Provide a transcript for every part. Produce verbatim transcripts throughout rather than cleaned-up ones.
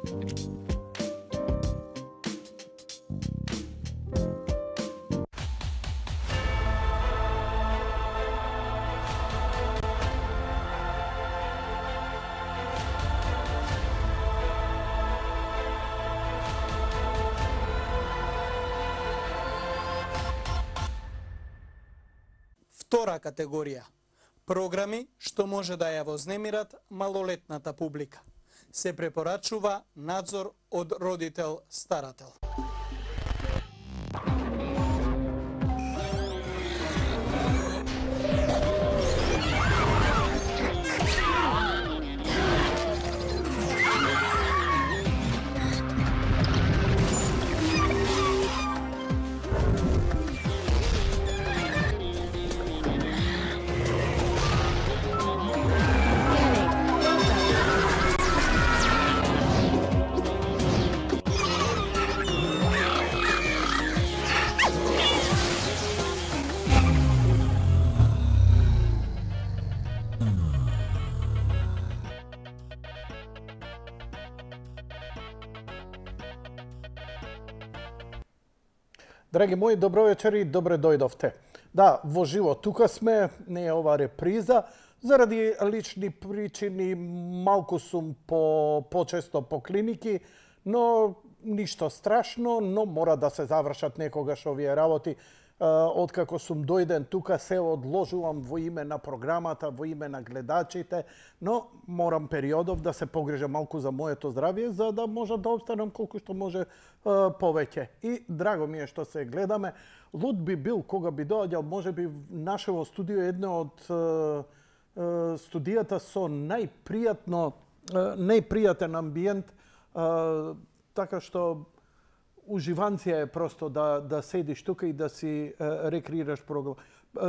Втора категорија. Програми што може да ја вознемират малолетната публика. Се препорачува надзор од родител-старател. Драги мои, добро вечер и добре дојдовте. Да, во живо тука сме, не е ова реприза, заради лични причини малку сум по почесто по клиники, но ништо страшно, но мора да се завршат некогаш овие работи. Откако сум дојден тука се одложувам во име на програмата, во име на гледачите, но морам периодов да се погрижам малку за моето здравје, за да може да обстанам колку што може повеќе. И драго ми е што се гледаме. Луд би бил кога би доаѓал, може би нашево студио едно од студијата со најпријатно, најпријатен амбиент, така што уживанција е просто да да седиш тука и да си рекреираш програма,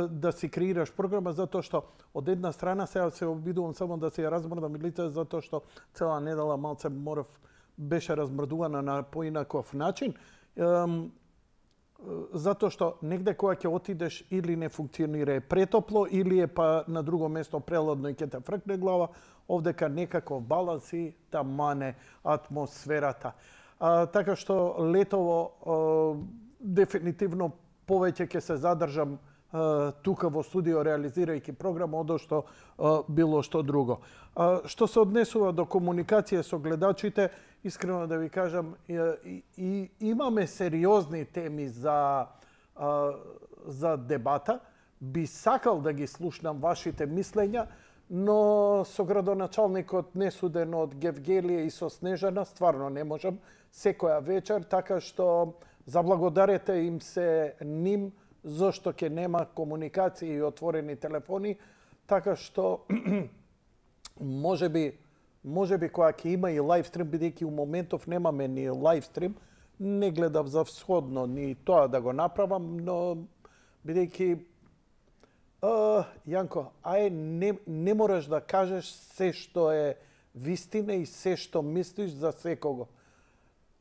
да си креираш програма, затоа што од една страна сега се обидувам само да се ја размрдам лице, затоа што цела недела малце морав беше размрдувана на поинаков начин. Затоа што негде кога ќе отидеш или не функционира е претопло, или е па на друго место прелодно и ќе те фркне глава, овдека некаков баланс и да мане атмосферата. А, така што летово а, дефинитивно повеќе ќе се задржам а, тука во студио реализирајќи програма од што а, било што друго. А, што се однесува до комуникација со гледачите, искрено да ви кажам, и, и, имаме сериозни теми за, а, за дебата. Би сакал да ги слушнам вашите мислења, но со градоначалникот несуден од Гевгелија и со Снежана стварно не можам секоја вечер, така што заблагодарете им се ним зашто ќе нема комуникација и отворени телефони, така што може би може би кога ќе има и лайвстрим, бидејќи у моментов немаме ни лайвстрим, не гледав за всходно ни тоа да го направам, но бидејќи Uh, Јанко, ај не, не мораш да кажеш се што е вистина и се што мислиш за секого.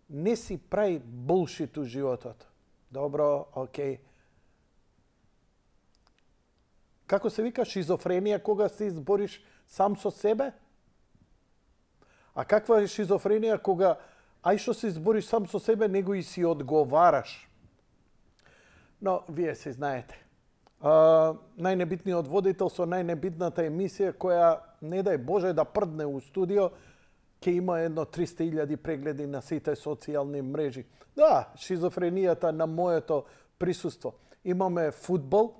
Не си прави булшит у животот. Добро, окей. Како се вика шизофренија кога се избориш сам со себе? А каква е шизофренија кога ај што се избориш сам со себе, него и си одговараш? Но, вие се знаете. Uh, најнебитниот водител со најнебитната емисија која, не дај Боже да прдне у студио, ќе има едно триста илјади прегледи на сите социјални мрежи. Да, шизофренијата на моето присуство. Имаме фудбал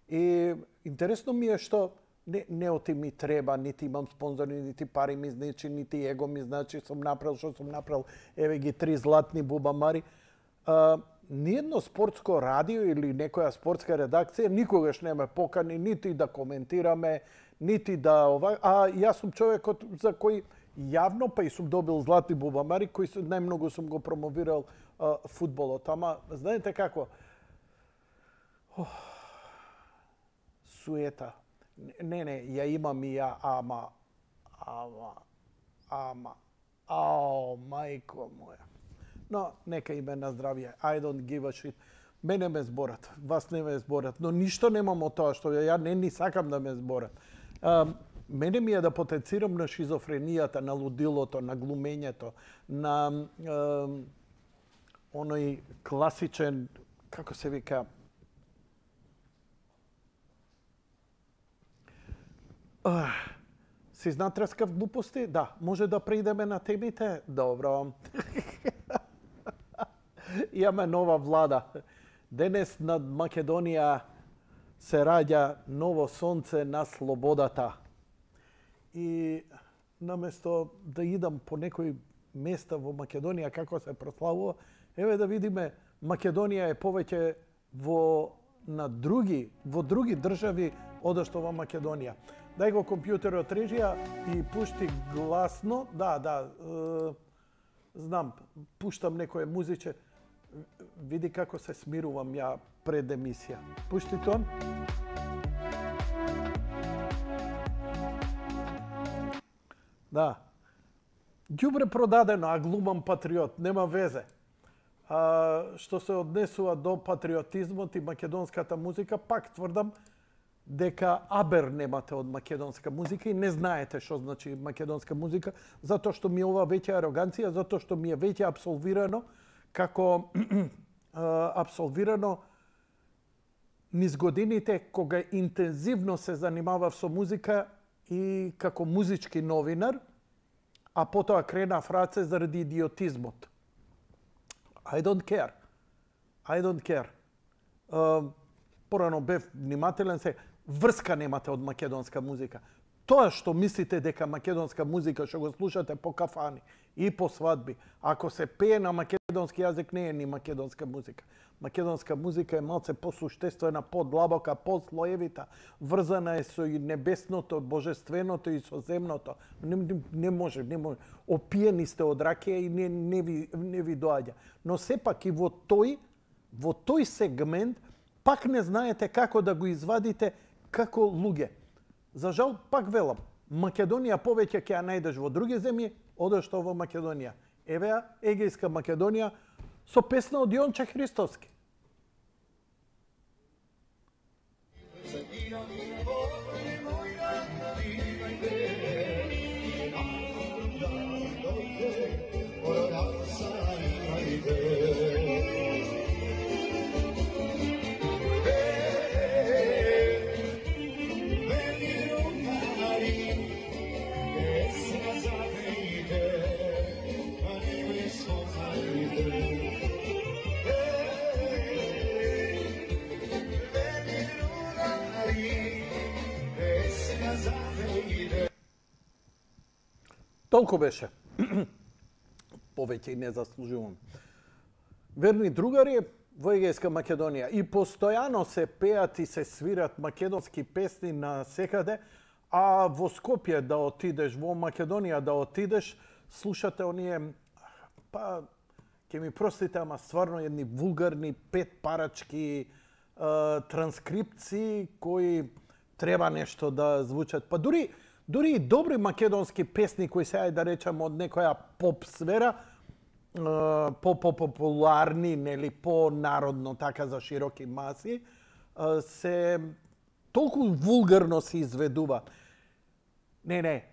и интересно ми е што не, не оти ми треба, нити имам спонзори, нити пари ми значи, нити его ми значи, сум направил што сум направил, еве ги три златни бубамари. Uh, Ниедно спортско радио или некоја спортска редакција никогаш не ме покани нити да коментираме, нити да ова, а јас сум човекот за кој јавно па и сум добил златни бубамари, кој најмногу сум го промовирал а, фудбалот. Ама знаете како? Ох, суета. Не, не, ја имам и ја, ама, ама, ама, ао, мајко моја. Но нека име на здравје. I don't give a shit. Мене ме зборат, вас не ме зборат, но ништо немам од тоа што ја не ни сакам да ме зборат. А, Мене ми е да потенцирам на шизофренијата, на лудилото, на глумењето, на е, оној класичен, како се вика, uh, си знатрескав глупости? Да. Може да преидеме на темите? Добро. Имаме нова влада. Денес над Македонија се раѓа ново сонце на слободата. И наместо да идам по некои места во Македонија како се прославува, еве да видиме, Македонија е повеќе во на други, во други држави одошто во Македонија. Дај го компјутерот режија и пушти гласно. Да, да, е, знам, пуштам некое музиче. Види како се смирувам ја пред емисија. Пушти тон. Да. Ѓубре продадено, а глумам патриот, нема везе. А, што се однесува до патриотизмот и македонската музика, пак тврдам дека абер немате од македонска музика и не знаете што значи македонска музика, затоа што ми е ова веќе ароганција, затоа што ми е веќе абсолвирано како абсолвирано низ годините кога интензивно се занимавав со музика и како музички новинар, а потоа кренав раце заради идиотизмот. I don't care. I don't care. Uh, порано бев внимателен, се врска немате од македонска музика. Тоа што мислите дека македонска музика што го слушате по кафани и по свадби, ако се пее на македонски јазик, не е ни македонска музика. Македонска музика е малце посуштествена, подлабока, послоевита, врзана е со и небесното, божественото и со земното. Не, не, не може, не може. Опиени сте од ракија и не, не, ви, не ви доаѓа. Но сепак и во тој, во тој сегмент, пак не знаете како да го извадите како луѓе. За жал, пак велам, Македонија повеќе ќе ја најдеш во други земји, одошто во Македонија. Еве ја, Егејска Македонија, со песна од Јонче Христовски. Толку беше. Повеќе и не заслужувам. Верни другари, во Егејска Македонија и постојано се пеат и се свират македонски песни на секаде, а во Скопје да отидеш, во Македонија да отидеш, слушате оние, па, ќе ми простите, ама стварно едни вулгарни пет парачки е, транскрипции кои треба нешто да звучат. Па дури Дури и добри македонски песни кои се, да речам, од некоја поп сфера, по-популарни, нели, по-народно, така за широки маси, се толку вулгарно се изведува. Не, не,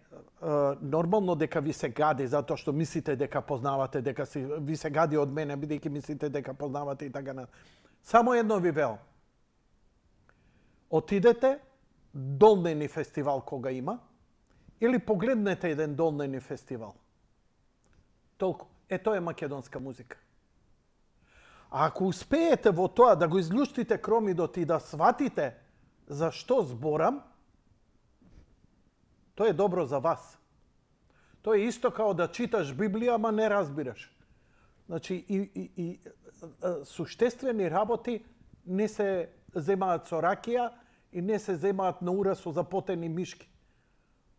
нормално дека ви се гади затоа што мислите дека познавате, дека си, ви се гади од мене, бидејќи мислите дека познавате и така на. Само едно ви велам. Отидете, Долнени фестивал кога има, или погледнете еден Долнени фестивал. Толку. Е, тоа е македонска музика. А ако успеете во тоа да го излуштите кромидот и да сватите за што зборам, тоа е добро за вас. Тоа е исто као да читаш Библија, ама не разбираш. Значи, и, и, и суштествени работи не се земаат со ракија и не се земаат на ура со запотени мишки.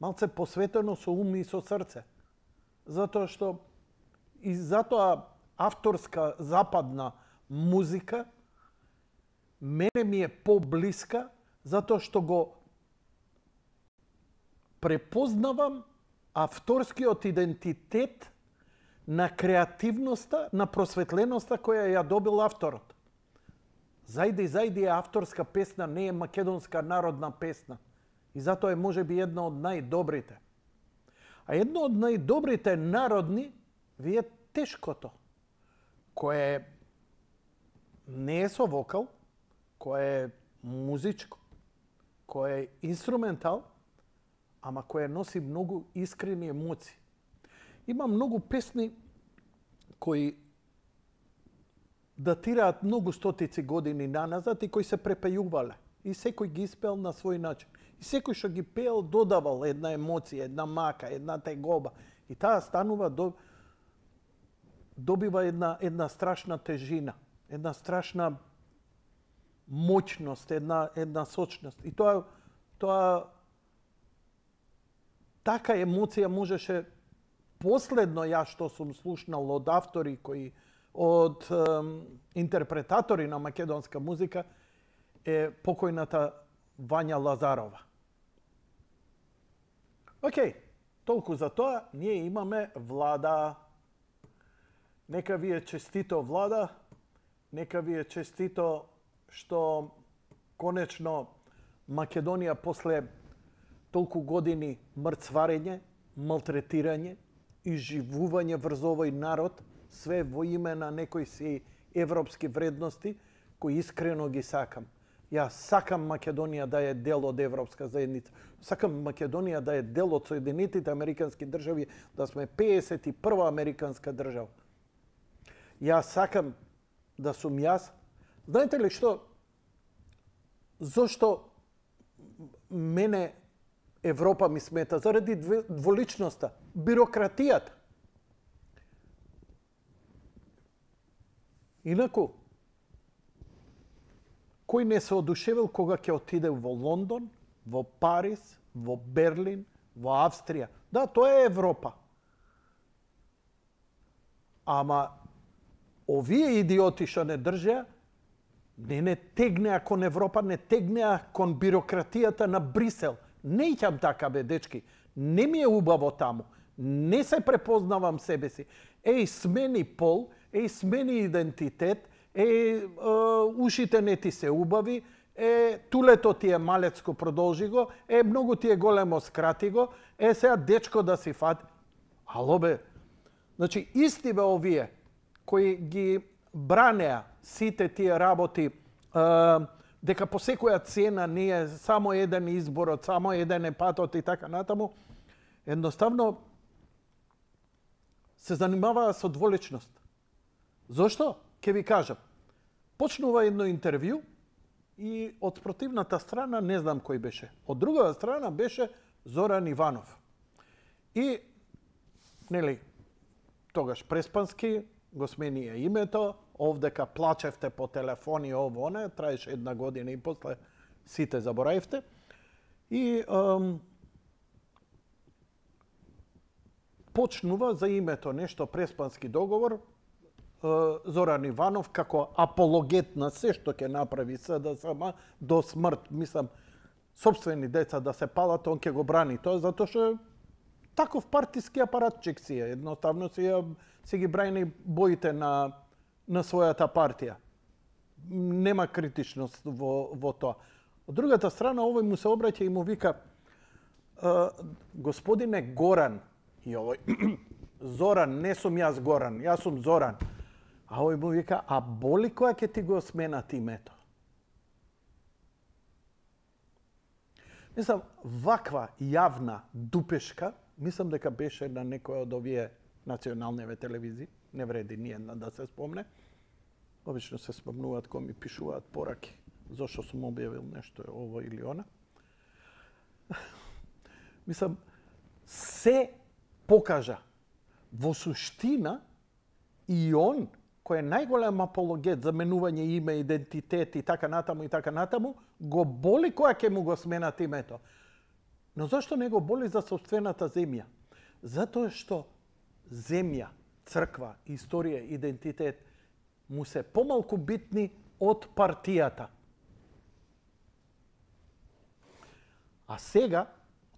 Малце посветено со ум и со срце. Затоа што и затоа авторска западна музика мене ми е поблиска, затоа што го препознавам авторскиот идентитет на креативноста, на просветленоста која ја добил авторот. Зајди, зајди е авторска песна, не е македонска народна песна. И затоа е можеби една од најдобрите. А едно од најдобрите народни ви е тешкото, кое не е со вокал, кое е музичко, кое е инструментал, ама кое носи многу искрени емоции. Има многу песни кои датираат многу стотици години наназад и кои се препејувале. И секој ги испеал на свој начин. И секој што ги пеел додавал една емоција, една мака, една тегоба. И таа станува до добива една една страшна тежина, една страшна моќност, една една сочност. И тоа тоа така емоција можеше последно ја што сум слушнал од автори кои од ем, интерпретатори на македонска музика е покојната Вања Лазарова. Океј, толку за тоа, ние имаме Влада. Нека ви е честито, Влада. Нека ви е честито што конечно Македонија после толку години мрцварење, малтретирање, изживување врз овој народ, све во име на некои си европски вредности, кои искрено ги сакам. Јас сакам Македонија да е дел од европска заедница. Сакам Македонија да е дел од Соединетите Американски држави, да сме педесет и прва американска држава. Јас сакам да сум јас. Знаете ли што? Зошто мене Европа ми смета? Заради дволичноста, бирократијата. Инаку, кој не се одушевил кога ќе отиде во Лондон, во Париз, во Берлин, во Австрија? Да, тоа е Европа. Ама овие идиоти што не држеа, не не тегнеа кон Европа, не тегнеа кон бирократијата на Брисел. Не икам така, бе, дечки. Не ми е убаво таму. Не се препознавам себе си. Еј, смени пол, еј, смени идентитет, е, ушите не ти се убави, е, тулето ти е малецко, продолжи го, е, многу ти е големо, скрати го, е, сега дечко да си фати. Ало, бе, значи, исти бе овие, кои ги бранеа сите тие работи, е, дека по секоја цена не е само еден изборот, само еден е патот и така натаму, едноставно се занимаваа со дволичност. Зошто? Ке ви кажам. Почнува едно интервју и од противната страна не знам кој беше. Од другата страна беше Зоран Иванов. И, нели, тогаш преспански го сменија името, овдека плачевте по телефони, ово, не, траеше една година и после сите заборавивте. И ем, почнува за името нешто преспански договор, Зоран Иванов како апологет на се што ќе направи СДСМ до смрт, мислам, сопствени деца да се палат, он ќе го брани тоа, затоа што таков партиски апаратчик си е, едноставно си, си ги брани боите на, на својата партија. Нема критичност во, во тоа. Од другата страна, овој му се обраќа и му вика, господине Горан, и овој, Зоран, не сум јас Горан, јас сум Зоран. А овој му вика, а боли која ќе ти го сменат името? Мислам, ваква јавна дупешка, мислам дека беше на некој од овие националниве телевизии, не вреди ни една да се спомне. Обично се спомнуваат кога ми пишуваат пораки, зашто сум објавил нешто ово или она. Мислам, се покажа. Во суштина и он, кој е најголем апологет за менување име, идентитет и така натаму и така натаму, го боли која ќе му го сменат името. Но зашто не го боли за сопствената земја? Затоа што земја, црква, историја, идентитет му се помалку битни од партијата. А сега,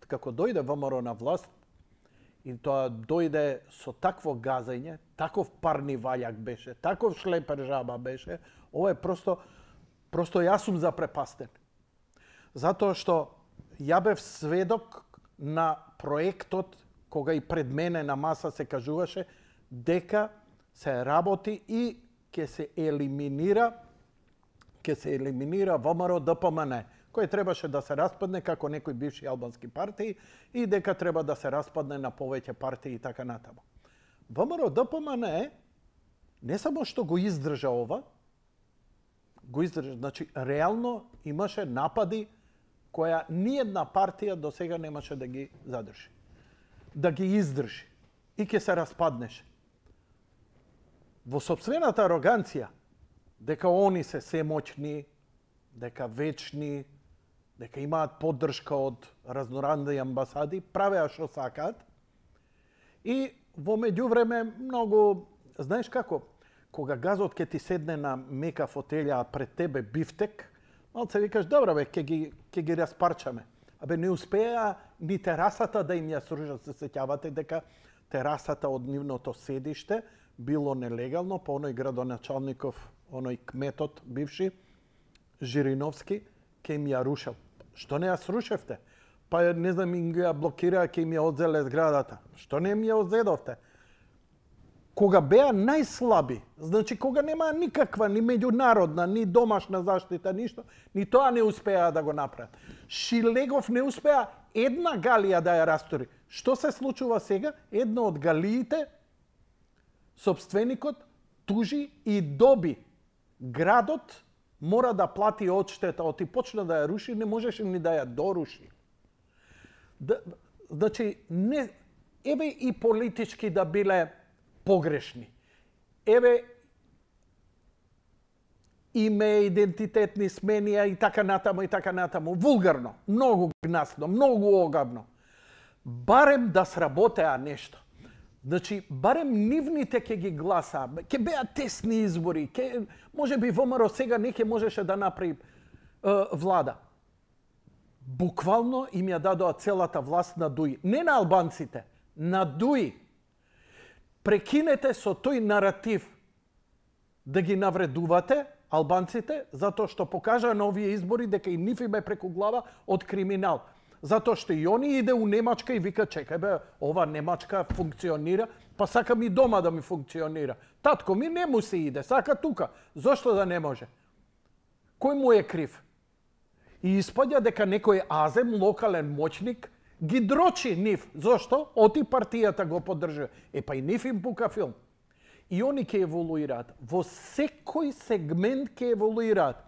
како дојде ВМРО на власт, и тоа дојде со такво газање, таков парни ваљак беше, таков шлепер жаба беше, ова е просто, просто јас сум запрепастен. Затоа што ја бев сведок на проектот, кога и пред мене на маса се кажуваше дека се работи и ќе се елиминира ќе се елиминира ВМРО Д П М Н, кој требаше да се распадне како некои бивши албански партии и дека треба да се распадне на повеќе партии и така натаму. ВМРО Д П М Н не само што го издржа ова, го издржа, значи реално имаше напади која ниедна партија до сега немаше да ги задржи, да ги издржи и ќе се распаднеше. Во сопствената ароганција, дека они се семоќни, дека вечни, дека имаат поддршка од разноразни амбасади, правеа што сакаат. И во меѓувреме многу, знаеш како, кога газот ќе ти седне на мека фотелја, а пред тебе бифтек, малце викаш, добро бе, ќе ги, ќе ги распарчаме. Абе, не успеа ни терасата да им ја сружат. Се сеќавате дека терасата од нивното седиште било нелегално, по оној градоначалников, оној кметот бивши, Жириновски, ке им ја рушел. Што не ја срушевте? Па не знам, им ја блокираа, ке им ја одзеле зградата. Што не им ја одзедовте? Кога беа најслаби, значи кога нема никаква ни меѓународна, ни домашна заштита, ништо, ни тоа не успеа да го направат. Шилегов не успеа една галија да ја растори. Што се случува сега? Една од галиите, собственикот тужи и доби. Градот мора да плати одштета, оти почна да ја руши, не можеше ни да ја доруши. Да, значи, не, еве и политички да биле погрешни. Еве име, идентитетни сменија и така натаму и така натаму. Вулгарно, многу гнасно, многу огавно. Барем да сработеа нешто. Значи, барем нивните ќе ги гласа, ќе беа тесни избори, ќе, може би ВМРО сега не ќе можеше да направи е, влада. Буквално им ја дадоа целата власт на Дуи. Не на албанците, на Дуи. Прекинете со тој наратив да ги навредувате албанците, затоа што покажаа на овие избори дека и нив им е преку глава од криминал. Затоа што и они иде у Немачка и вика, чекај бе, ова Немачка функционира, па сакам и дома да ми функционира. Татко ми не му се иде, сака тука. Зошто да не може? Кој му е крив? И испаѓа дека некој азем, локален моќник, ги дрочи нив. Зошто? Оти партијата го поддржува. Е, па и нив им пука филм. И они ќе еволуираат. Во секој сегмент ќе еволуираат.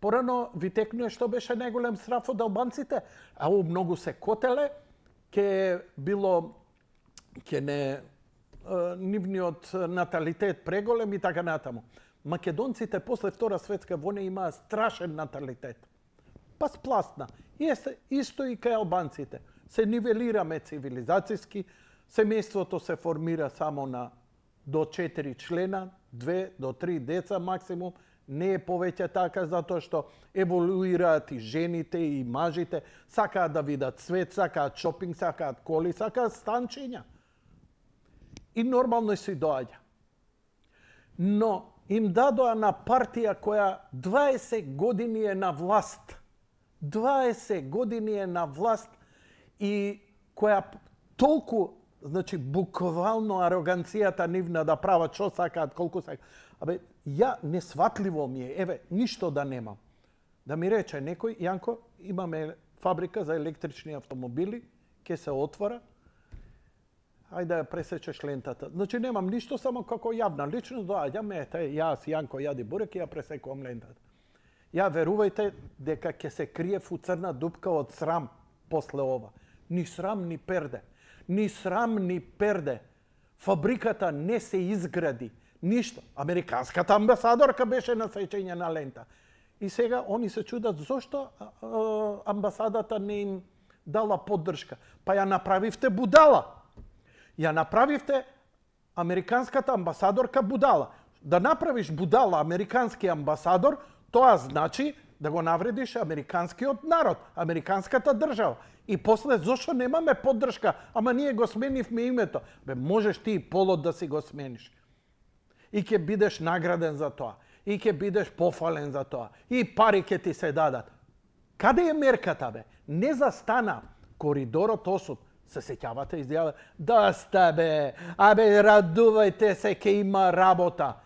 Порано ви текнуе што беше најголем страф од албанците, а у многу се котеле, ке било, ке не, нивниот наталитет преголем и така натаму. Македонците после Втора светска војна имаа страшен наталитет. Па спласна. Исто и кај албанците. Се нивелираме цивилизацијски, семејството се формира само на до четири члена, две до три деца максимум, не е повеќе така затоа што еволуираат и жените и мажите, сакаат да видат свет, сакаат шопинг, сакаат коли, сакаат станчиња. И нормално си доаѓа. Но им дадоа на партија која дваесет години е на власт. дваесет години е на власт и која толку, значи буквално ароганцијата нивна да прават што сакаат, колку сакаат. Абе, ја несватливо ми е, еве, ништо да немам. Да ми рече некој, Јанко, имаме фабрика за електрични автомобили, ќе се отвора, ајде да ја пресечеш лентата. Значи немам ништо, само како јавна личност, доаѓам, ете, јас, Јанко, јади бурек и ја пресекувам лентата. Ја верувајте дека ќе се крие у црна дупка од срам после ова. Ни срам, ни перде. Ни срам, ни перде. Фабриката не се изгради. Ништо. Американската амбасадорка беше на сечење на лента. И сега они се чудат зошто амбасадата не им дала поддршка. Па ја направивте будала. Ја направивте американската амбасадорка будала. Да направиш будала американски амбасадор, тоа значи да го навредиш американскиот народ, американската држава. И после зошто немаме поддршка, ама ние го сменивме името. Бе, можеш ти и полот да си го смениш. И ќе бидеш награден за тоа. И ќе бидеш пофален за тоа. И пари ќе ти се дадат. Каде е мерката, бе? не застана коридорот осуд. Се сеќавате изјава, да сте бе, абе радувајте се, ке има работа.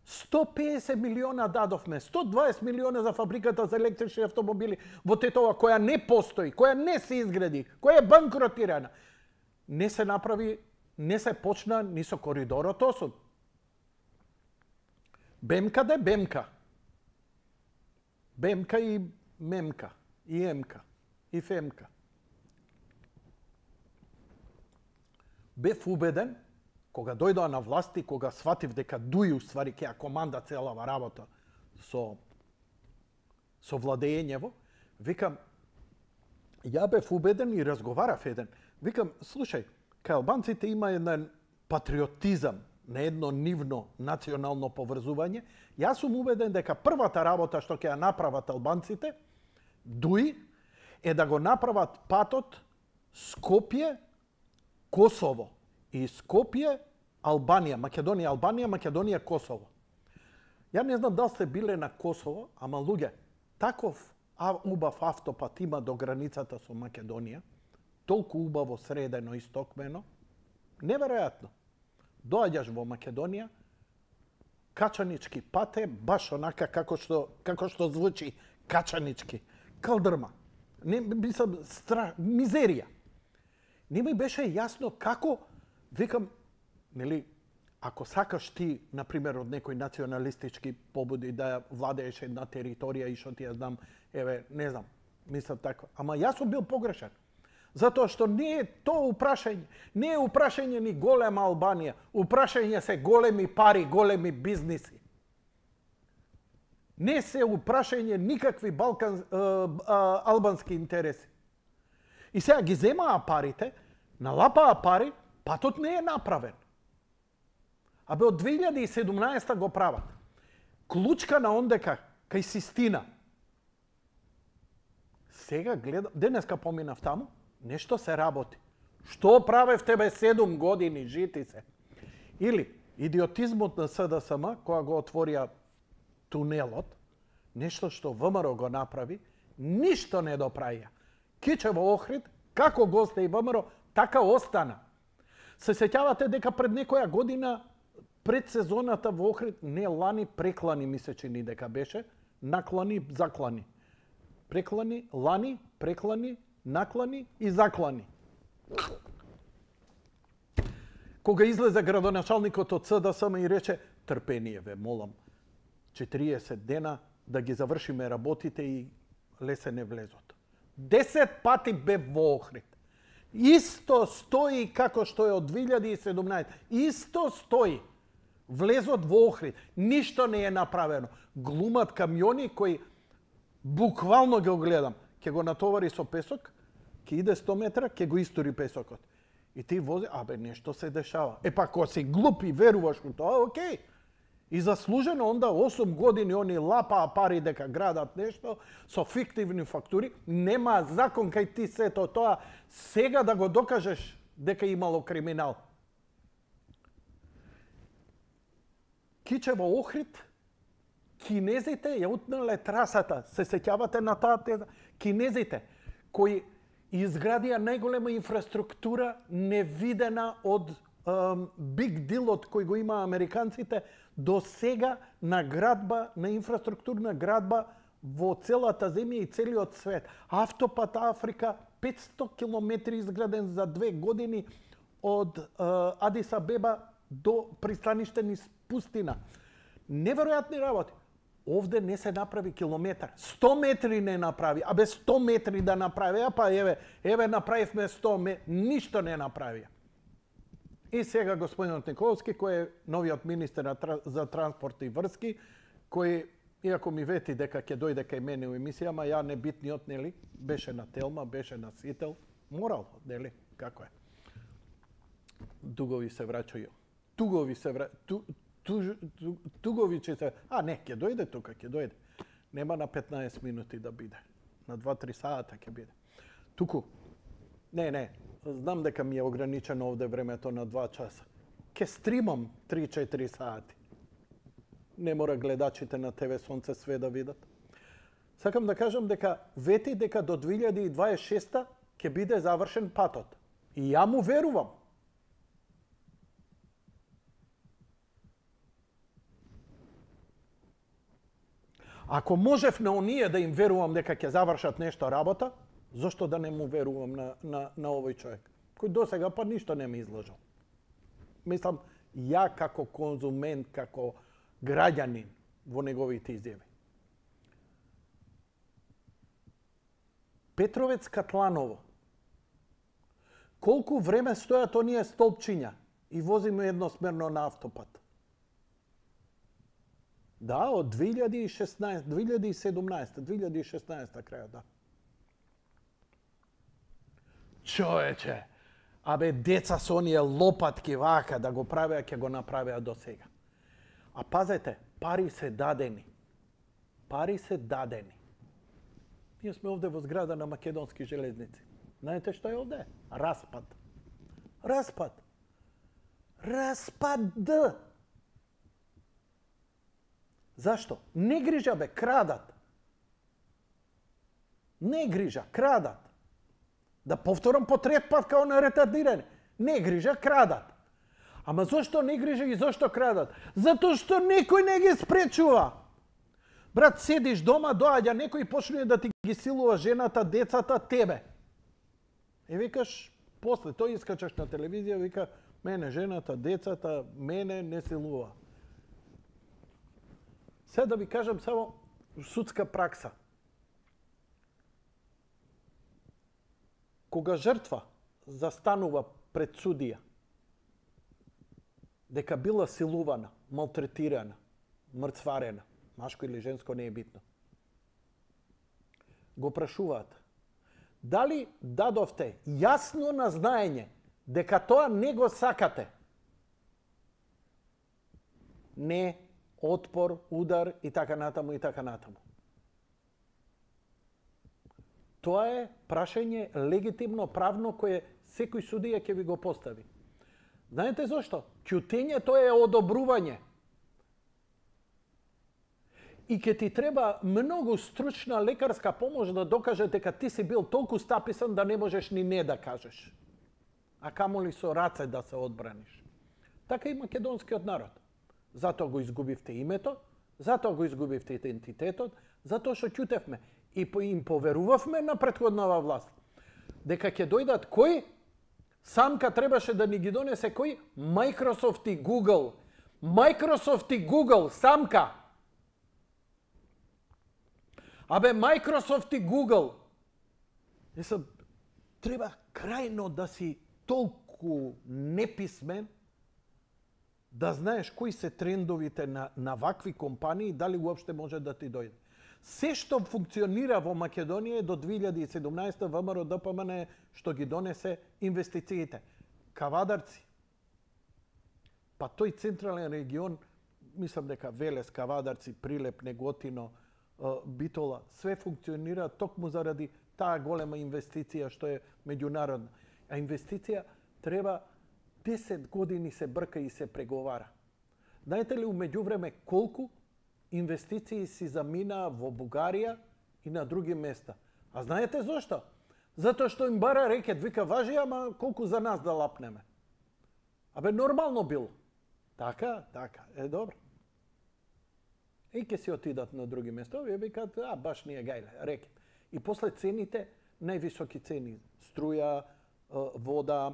сто песет милиона дадовме, сто дваесет милиона за фабриката за електрични автомобили во Тетова, која не постои, која не се изгради, која е банкротирана. Не се направи, не се почна ни со коридорот осуд. Бемка де Бемка. Бемка и Мемка, и Емка, и Фемка. Бев убеден, кога дојдоа на власт и кога сватив дека Дуи уствари ќе ја команда целава работа со со владењево, викам, ја бев убеден и разговарав еден. Викам, слушај, кај албанците има еден патриотизам, на едно нивно национално поврзување. Јас сум убеден дека првата работа што ќе ја направат албанците, Дуи, е да го направат патот Скопје, Косово и Скопје, Албанија, Македонија, Албанија, Македонија, Косово. Ја не знам дали сте биле на Косово, ама луѓе, таков убав автопат има до границата со Македонија, толку убаво средено и стокмено, неверојатно. Доаѓаш во Македонија, качанички пате, баш онака како што како што звучи качанички, калдрма. Не мислам стра, мизерија. Не ми беше јасно како, викам, нели, ако сакаш ти, на пример, од некој националистички побуди да владееш една територија и што ти ја знам, еве, не знам, мислам така. Ама јас сум бил погрешен. Затоа што не е тоа упрашање, не е упрашање ни голема Албанија, упрашање се големи пари, големи бизниси. Не се упрашање никакви балкан, е, е, албански интереси. И сега ги земаа парите, налапаа пари, патот не е направен. Абе од две илјади и седумнаесета го прават. Клучка на ондека, кај Систина. Сега гледам, денеска поминав таму, нешто се работи. Што правев тебе седум години, жити се? Или идиотизмот на С Д С М, која го отворија тунелот, нешто што В М Р го направи, ништо не доправија. Кичево Охрид, како го остави В М Р, така остана. Се сеќавате дека пред некоја година, пред сезоната во Охрид, не лани, преклани ми се чини дека беше, наклани, заклани. Преклани, лани, преклани, наклани и заклани. Кога излезе градоначалникот од С Д С М и рече, трпение ве, молам, четириесет дена да ги завршиме работите и лесен е влезот. десет пати бе во Охрид. Исто стои како што е од две илјади и седумнаесета. Исто стои. Влезот во Охрид. Ништо не е направено. Глумат камиони кои буквално ги гледам. Ке го натовари со песок, ке иде сто метра, ке го истори песокот. И ти вози, абе, нешто се дешава. Е па, ако си глуп и веруваш во тоа, окей. И заслужено онда осум години они лапаа пари дека градат нешто со фиктивни фактури, нема закон кај ти сето тоа сега да го докажеш дека имало криминал. Кичево Охрид, кинезите ја утнале трасата, се сеќавате на таа теза? Кинезите кои изградија најголема инфраструктура невидена од um, биг дилот кој го има американците до сега на градба, на инфраструктурна градба во целата земја и целиот свет. Автопат Африка, петсто километри изграден за две години од uh, Адис Абеба до пристаниште низ пустина. Неверојатни работи. Овде не се направи километар. сто метри не направи. Абе сто метри да направи, а па еве, еве направивме сто метри, ништо не направи. И сега господинот Николовски, кој е новиот министер за транспорт и врски, кој, иако ми вети дека ќе дојде кај мене у емисијама, ја небитниот, нели, беше на Телма, беше на Сител, морал, нели, како е. Дугови се враќају. Тугови се враќају. Ту, ту, ту, тугови че се... А, не, ќе дојде тука, ќе дојде. Нема на петнаесет минути да биде. На два-три сата ќе биде. Туку. Не, не. Знам дека ми е ограничено овде времето на два часа. Ке стримам три-четири сати. Не мора гледачите на Т В Сонце све да видат. Сакам да кажам дека вети дека до две илјади и дваесет и шеста ќе биде завршен патот. И ја му верувам. Ако можев на оние да им верувам дека ќе завршат нешто работа, зошто да не му верувам на, на, на овој човек, кој досега па ништо не ми изложил. Мислам, ја како конзумент, како граѓанин во неговите изјави. Петровец Катланово. Колку време стојат оние столпчиња и возиме едносмерно на автопат? Да, од две илјади и шеснаесета, две илјади и седумнаесета, две илјади и шеснаесета крајот, да. Човече, абе деца со оние лопатки вака да го правеа, ќе го направеа до сега. А пазете, пари се дадени. Пари се дадени. Ние сме овде во зграда на Македонски железници. Знаете што е овде? Распад. Распад. Распад. Зашто? Не грижа, бе, крадат. Не грижа, крадат. Да повторам по трет пат као на ретардиране. Не грижа, крадат. Ама зошто не грижа и зошто крадат? Затоа што некој не ги спречува. Брат, седиш дома, доаѓа некој и почне да ти ги силува жената, децата, тебе. И викаш, после тој искачаш на телевизија, вика, мене жената, децата, мене не силува. Сега да ви кажам само судска пракса. Кога жртва застанува пред судија, дека била силувана, малтретирана, мрцварена, машко или женско не е битно, го прашуваат, дали дадовте јасно назнаење дека тоа не го сакате? Не, отпор, удар и така натаму и така натаму. Тоа е прашање легитимно, правно, кое секој судија ќе ви го постави. Знаете зошто? Ќутењето е одобрување. И ќе ти треба многу стручна лекарска помош да докаже дека ти си бил толку стаписан да не можеш ни не да кажеш. А камоли со раце да се одбраниш. Така и македонскиот народ. Затоа го изгубивте името, затоа го изгубивте идентитетот, затоа што ќутевме. И им поверувавме на претходнава власт. Дека ќе дојдат кој? Самка требаше да ни ги донесе кој? Microsoft и Google. Microsoft и Google, самка. Абе, Microsoft и Google. Есам, треба крајно да си толку неписмен да знаеш кои се трендовите на, на вакви компании, дали уопште може да ти дојде. Се што функционира во Македонија до две илјади и седумнаесета ВМРО Д П М Н што ги донесе инвестициите. Кавадарци. Па тој централен регион, мислам дека Велес, Кавадарци, Прилеп, Неготино, Битола, све функционира токму заради таа голема инвестиција што е меѓународна. А инвестиција треба десет години се брка и се преговара. Знаете ли умеѓувреме колку инвестиции си заминаа во Бугарија и на други места? А знаете зошто? Затоа што им бара рекет, вика, важи, ама колку за нас да лапнеме. Абе, нормално било. Така, така, е добро. И ке си отидат на други места, овие викат, а, баш ние гајле, рекет. И после цените, највисоки цени, струја, вода,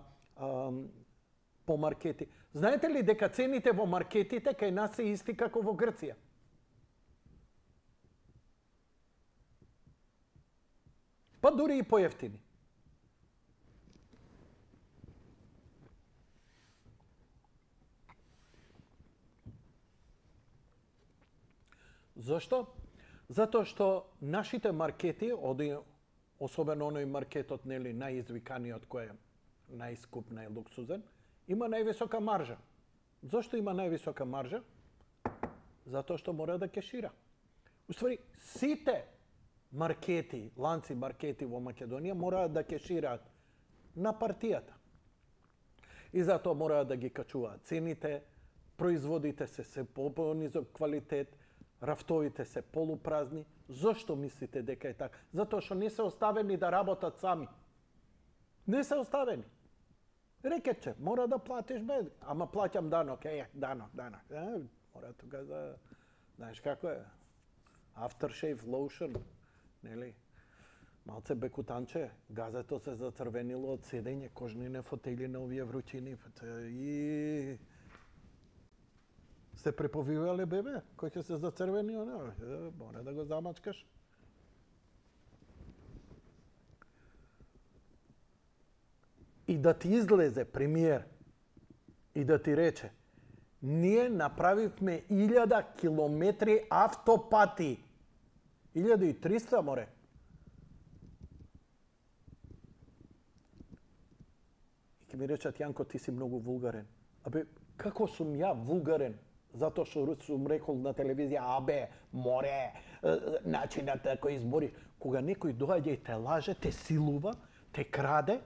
по маркети. Знаете ли дека цените во маркетите кај нас се исти како во Грција? Па дури и поевтини. Зошто? Затоа што нашите маркети, особено оној маркетот, нели, најизвиканиот кој е најскуп, најлуксузен, има највисока маржа. Зошто има највисока маржа? Затоа што мора да кешира. Уствари, сите маркети, ланци маркети во Македонија мораат да кешираат на партијата. И затоа мораат да ги качуваат цените, производите се се по низок квалитет, рафтовите се полупразни. Зошто мислите дека е така? Затоа што не се оставени да работат сами. Не се оставени. Рекетче, мора да платиш бе, ама плаќам данок, е, данок, данок. Е, мора тука да, знаеш како е, aftershave lotion, нели? Малце бекутанче, газето се зацрвенило од седење, кожнine фотели на овие вручини. И сте преповивале бебе, кој ќе се зацрвени, оно, мора да го замачкаш. И да ти излезе премиер и да ти рече, ние направивме илјада километри автопати. илјада и триста, море. И ке ми речат, Јанко, ти си многу вулгарен. Абе, како сум ја вулгарен? Затоа што сум рекол на телевизија, абе, море, начинот на кој избори. Кога некој доаѓа и те лаже, те силува, те краде,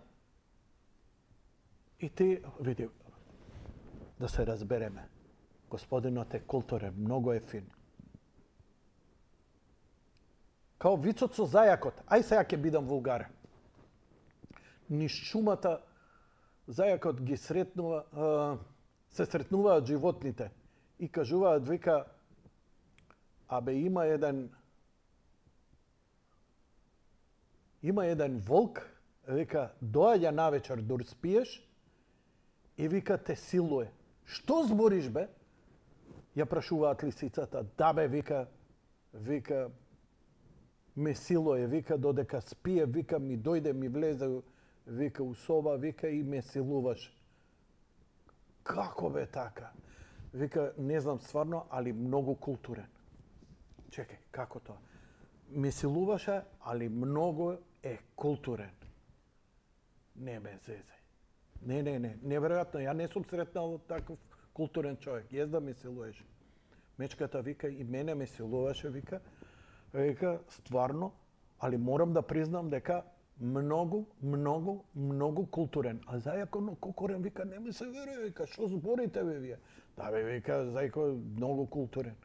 и ти, види, да се разбереме, господинот е културен, многу е фин. Као вицот со зајакот, ај сега ќе бидам вулгарен. Низ шумата зајакот ги сретнува, а, се сретнуваат животните и кажуваат, вика, абе има еден има еден волк, вика, доаѓа навечер дур спиеш, и вика те силуе. Што збориш бе? Ја прашуваат лисицата. Да бе, вика, вика, ме силуе, вика, додека спие, вика, ми дојде, ми влезе, вика, у соба, вика, и ме силуваш. Како бе така? Вика, не знам стварно, али многу културен. Чекај, како тоа? Ме силуваше, али многу е културен. Не ме зезе. Не, не, не, неверојатно, ја не сум сретнал таков културен човек. Јес да ме силуеше. Мечката вика, и мене ме силуваше, вика, вика, стварно, али морам да признам дека многу, многу, многу културен. А зајако но Кокорен вика, не ми се верува, вика, што зборите бе вие? Да бе, вика, зајако многу културен.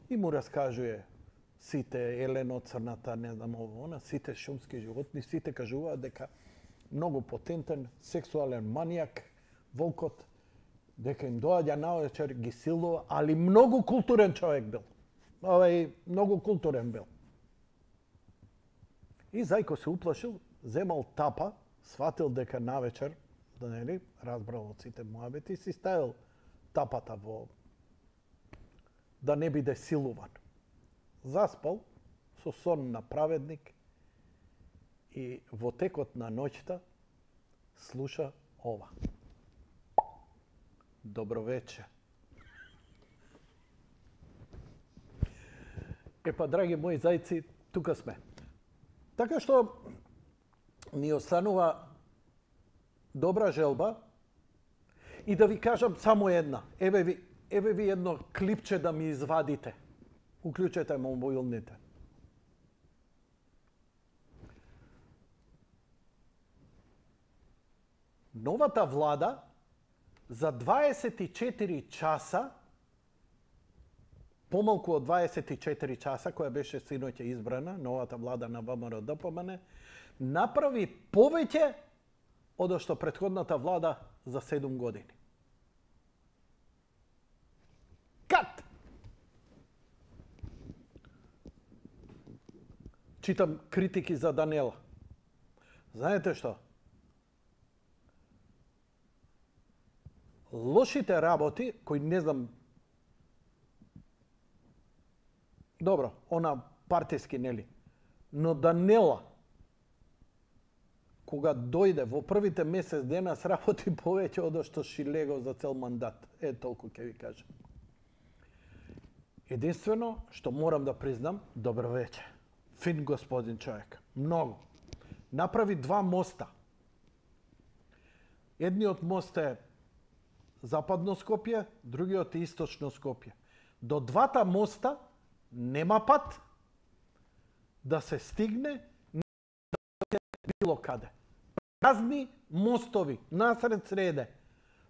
И му раскажуе сите елено, црната, не знам ово, она, сите шумски животни, сите кажуваат дека многу потентен, сексуален манијак, волкот, дека им доаѓа навечер, ги силува, али многу културен човек бил. Овај, многу културен бил. И зајко се уплашил, земал тапа, сватил дека навечер, да нели, разбрал од сите муабети, си ставил тапата во да не биде силуван. Заспал со сон на праведник и во текот на ноќта слуша ова. Добро вече. Епа, драги мои зајци, тука сме. Така што ни останува добра желба и да ви кажам само една. Еве ви, еве ви едно клипче да ми извадите. Уклучете мобилните. Новата влада за дваесет и четири часа, помалку од дваесет и четири часа, која беше синоќа избрана, новата влада на ВМРО-ДПМН, направи повеќе од што претходната влада за седум години. Кат! Читам критики за Данела. Знаете што? Лошите работи, кои не знам, добро, она партиски, нели, но Данела, кога дојде во првите месец дена, сработи повеќе од што Шилего за цел мандат. Е, толку ќе ви кажам. Единствено, што морам да признам, добро вече. Фин господин човек. Многу. Направи два моста. Едниот мост е Западно Скопје, другиот е Источно Скопје. До двата моста нема пат да се стигне било каде. Празни мостови, насред среде.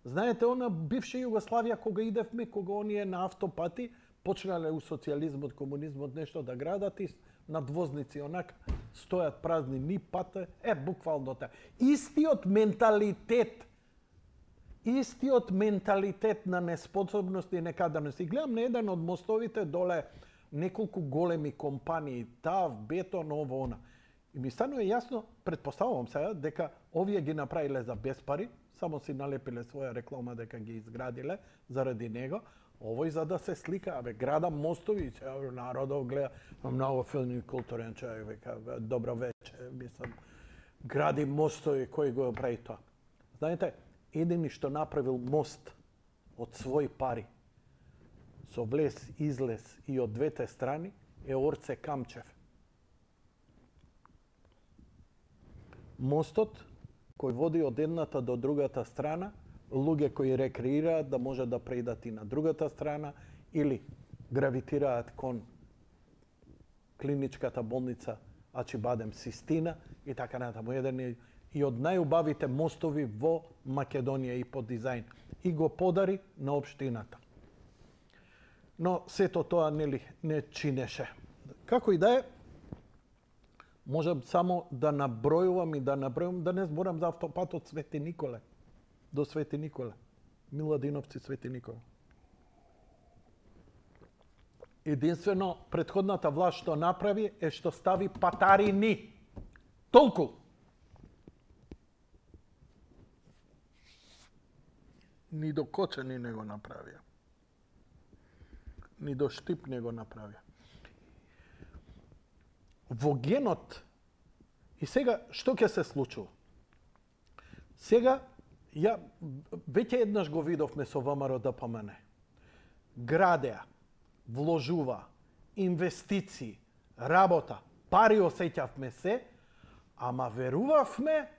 Знаете, она бивша Југославија, кога идевме, кога оние на автопати, почнале у социјализмот, комунизмот нешто да градат и над возници онака стојат празни ни пате, е буквално така. Истиот менталитет, истиот менталитет на неспособност и некадарност. И гледам на еден од мостовите доле неколку големи компании, ТАВ, Бетон, ово, она. И ми станува јасно, предпоставувам сега, дека овие ги направиле за без пари, само си налепиле своја реклама дека ги изградиле заради него, овој за да се слика, абе, града мостови, народов гледа, многу филми културен човек, века, добро вече, мислам, гради мостови, кој го прави тоа. Знаете, едини што направил мост од своји пари, со влез, излез и од двете страни, е Орце Камчев. Мостот, кој води од едната до другата страна, луѓе кои рекреираат да може да преидат и на другата страна или гравитираат кон клиничката болница Ачибадем Систина и така натаму. Еден и од најубавите мостови во Македонија и по дизајн. И го подари на општината. Но сето тоа нели не чинеше. Како и да е, можам само да набројувам и да набројувам, да не зборам за автопатот Свети Николе. До Свети Николе. Миладиновци Свети Николе. Единствено, претходната власт што направи е што стави патарини. Толку. Ни до Кочани не го направија. Ни до Штип не го направија. Во генот, и сега, што ќе се случува? Сега, ја веќе еднаш го видовме со ВМРО Д П М Н. Градеа, вложува, инвестиции, работа, пари осеќавме се, ама верувавме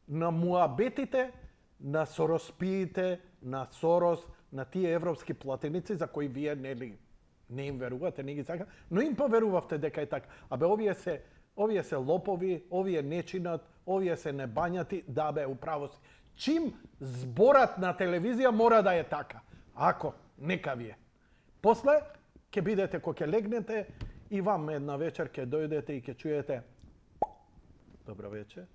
на муабетите, на сороспиите, на Сорос, на тие европски платеници за кои вие нели не им верувате, не ги сака, но им поверувавте дека е така. Абе овие се овие се лопови, овие не чинат, овие се не бањати, да бе управо си. Чим зборат на телевизија мора да е така. Ако нека вие. После ќе бидете кога ќе легнете и вам една вечер ќе дојдете и ќе чуете добро вечер.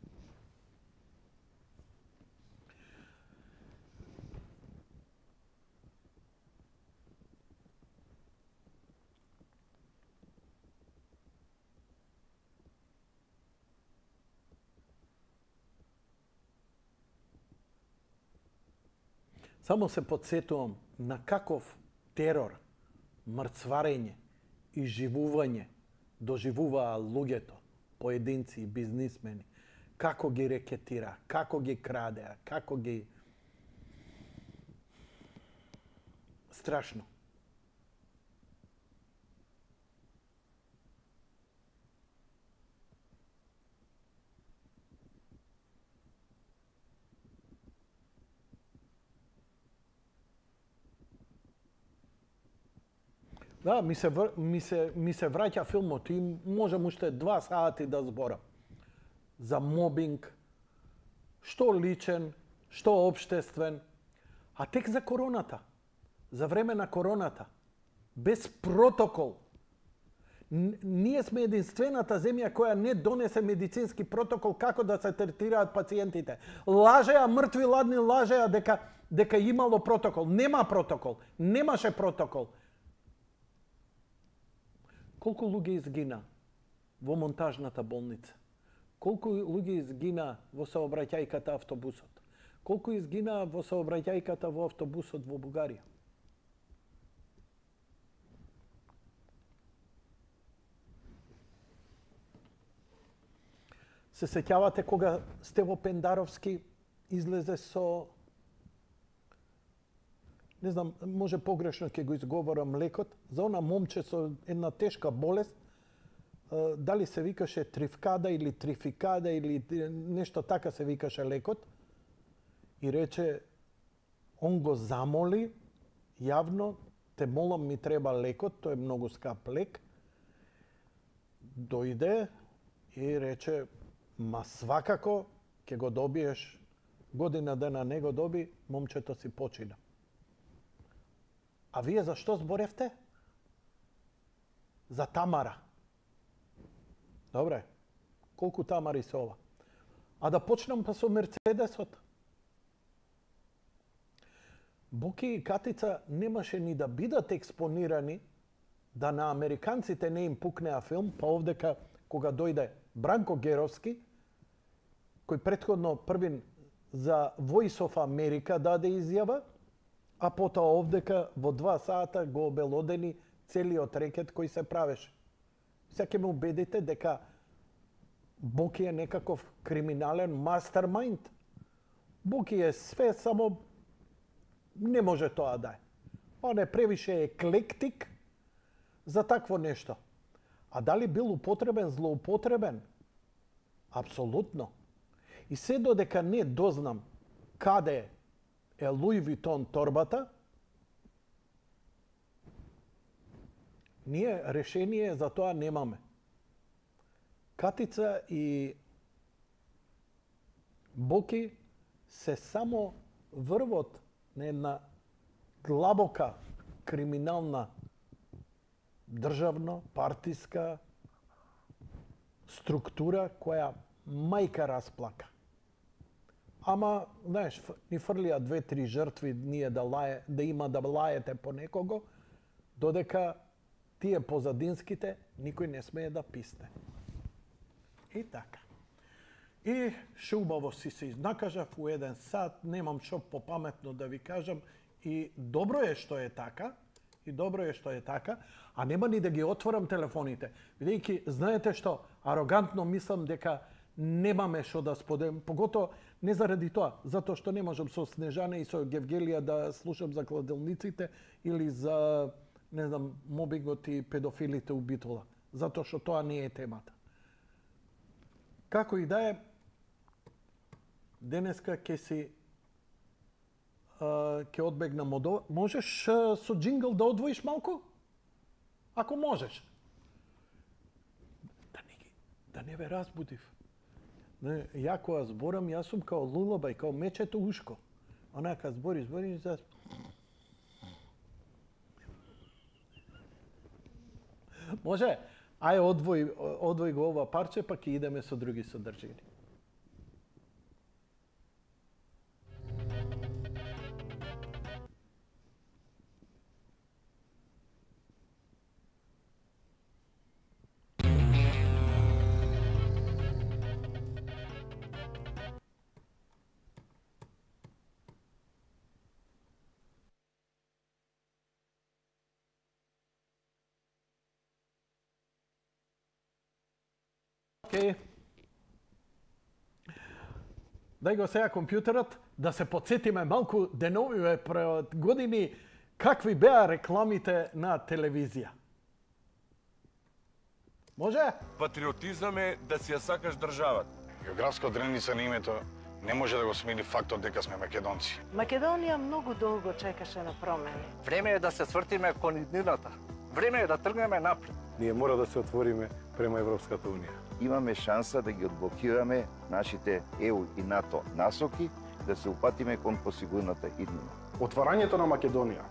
Само се подсетувам на каков терор, мрцварење и живување доживуваа луѓето, поединци и бизнисмени, како ги рекетира, како ги крадеа, како ги... Страшно. Да, ми се, ми се, ми се враќа филмот и можам уште два сати да зборам. За мобинг, што личен, што обштествен, а тек за короната, за време на короната, без протокол. Н ние сме единствената земја која не донесе медицински протокол како да се третираат пациентите. Лажеа, мртви ладни лажеа дека, дека имало протокол. Нема протокол, немаше протокол. Колку луѓе изгина во монтажната болница? Колку луѓе изгина во сообраќајката автобусот? Колку изгина во сообраќајката во автобусот во Бугарија? Се сеќавате кога Стево Пендаровски излезе со, не знам, може погрешно ќе го изговорам лекот, за она момче со една тешка болест, дали се викаше Тривкада или Трификада или нешто така се викаше лекот, и рече, он го замоли јавно, те молам, ми треба лекот, тој е многу скап лек. Дојде и рече, ма свакако ќе го добиеш, година дена не го доби, момчето си почина. А вие зашто зборевте? за Тамара. Добре, колку Тамари се ова? А да почнам па со Мерцедесот. Боки и Катица немаше ни да бидат експонирани да на американците не им пукнеа филм, па овдека кога дојде Бранко Геровски, кој претходно првин за Voice of America даде изјава, а потоа овдека во два сата го обелодени целиот рекет кој се правеше. Сега ќе ме убедите дека Боки е некаков криминален мастермайнд. Боки е све, само не може тоа да е. Он е превише еклектик за такво нешто. А дали бил употребен, злоупотребен? Апсолутно. И се додека не дознам каде е Луи Витон торбата, ние решение за тоа немаме. Катица и Боки се само врвот на една длабока криминална државно, партиска структура која мајка расплака. Ама, знаеш, ни фрлија две-три жртви ние да, лае, да има да лаете по некого, додека тие позадинските никој не смее да писне. И така. И шубаво си се изнакажав у еден сат, немам шо попаметно да ви кажам, и добро е што е така, и добро е што е така, а нема ни да ги отворам телефоните. Бидејќи, знаете што, арогантно мислам дека немаме шо да споделим, погото не заради тоа, затоа што не можам со Снежана и со Гевгелија да слушам за кладилниците или за, не знам, мобингот и педофилите у Битола, затоа што тоа не е темата. Како и да е, денеска ќе си ќе одбегнам од ова. Можеш со джингл да одвоиш малку? Ако можеш. Да не, да не ве разбудив. Не, ја кога зборам, јас сум као лулаба и као мечето ушко. Онака збори, збори и за... Може? Ај одвој, одвој го ова парче, па ќе идеме со други содржини. Okay. Дај го сега компјутерот да се подсетиме малку деновиве пред години какви беа рекламите на телевизија. Може? Патриотизам е да си ја сакаш државата. Географска одредница на името не може да го смени фактот дека сме македонци. Македонија многу долго чекаше на промени. Време е да се свртиме кон иднината. Време е да тргнеме напред. Ние мора да се отвориме према Европската унија. Имаме шанса да ги одблокираме нашите Е У и НАТО насоки, да се упатиме кон посигурната иднина. Отварањето на Македонија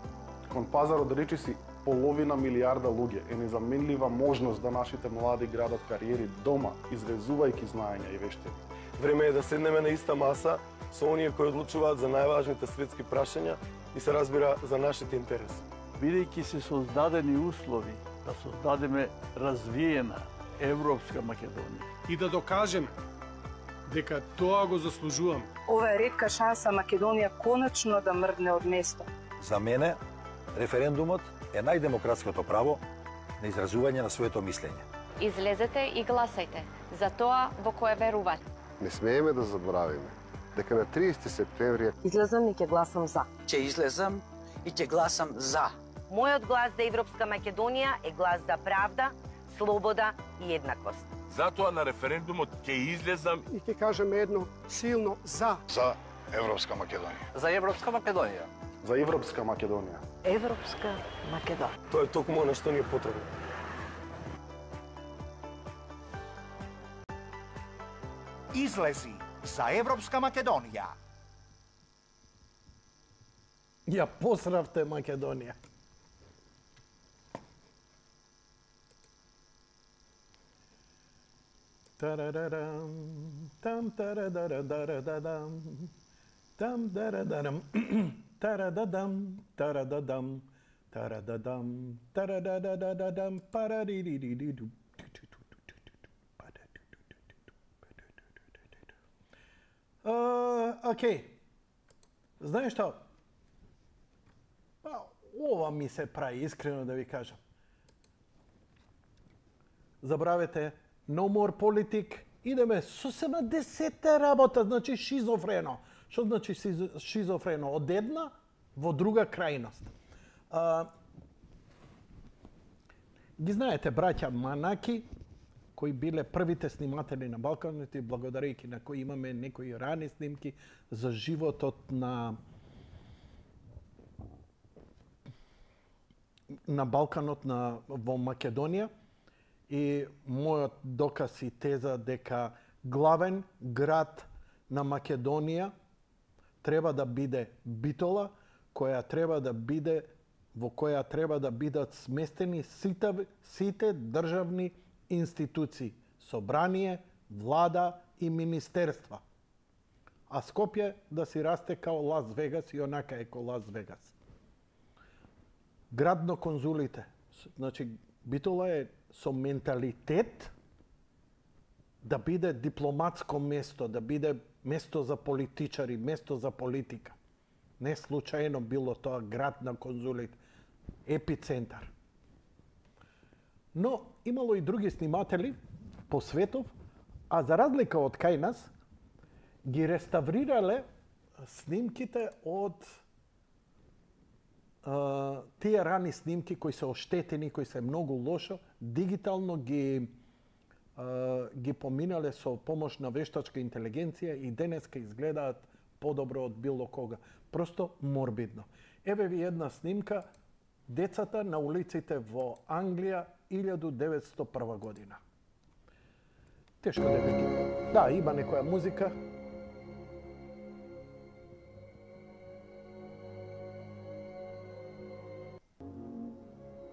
кон пазарот речиси половина милијарда луѓе е незаменлива можност да нашите млади градат кариери дома, извезувајќи знаења и вештини. Време е да седнеме на иста маса со оние кои одлучуваат за најважните светски прашања и се разбира за нашите интереси. Бидејќи се создадени услови да создадеме развиена Европска Македонија. И да докажеме дека тоа го заслужуваме. Ова е ретка шанса Македонија конечно да мрдне од место. За мене, референдумот е најдемократското право на изразување на своето мислење. Излезете и гласајте за тоа во кое верувате. Не смееме да заборавиме дека на триесети септември излезам и ќе гласам за. Ќе излезам и ќе гласам за. Мојот глас за Европска Македонија е глас за правда, слобода и еднаквост. Затоа на референдумот ќе излезам и ќе кажеме едно силно за. За Европска Македонија. За Европска Македонија. За Европска Македонија. Европска Македонија. Тоа е токму она што ни е потребно. Излези за Европска Македонија. Ја посравте Македонија. Тарадарам, там тарадарадарадам, там тарадарам, тарададам, тарададам, тарададам, тарададададам, параририририру. Окей. Знаеш што? Па, ова ми се прави, искрено да ви кажам. Забравете, no more politic, идеме сосема десета работа, значи шизофрено. Што значи шизофрено? Од една во друга крајност. А, ги знаете, браќа Манаки, кои биле првите сниматели на Балканот и благодарејќи на кои имаме некои рани снимки за животот на на Балканот на во Македонија. И мојот доказ и теза дека главен град на Македонија треба да биде Битола, која треба да биде во која треба да бидат сместени сите, сите државни институции, собрание, влада и министерства. А Скопје да си расте као Лас Вегас и онака е као Лас Вегас. Градно конзулите, значи Битола е со менталитет да биде дипломатско место, да биде место за политичари, место за политика. Не случајно било тоа град на конзулите, епицентар. Но имало и други сниматели по светов, а за разлика од кај нас, ги реставрирале снимките од Uh, тие рани снимки кои се оштетени, кои се многу лошо, дигитално ги uh, ги поминале со помош на вештачка интелигенција и денеска изгледаат подобро од било кога. Просто морбидно. Еве ви една снимка децата на улиците во Англија илјаду деветстотини и прва година. Тешко да ги... Да, има некоја музика.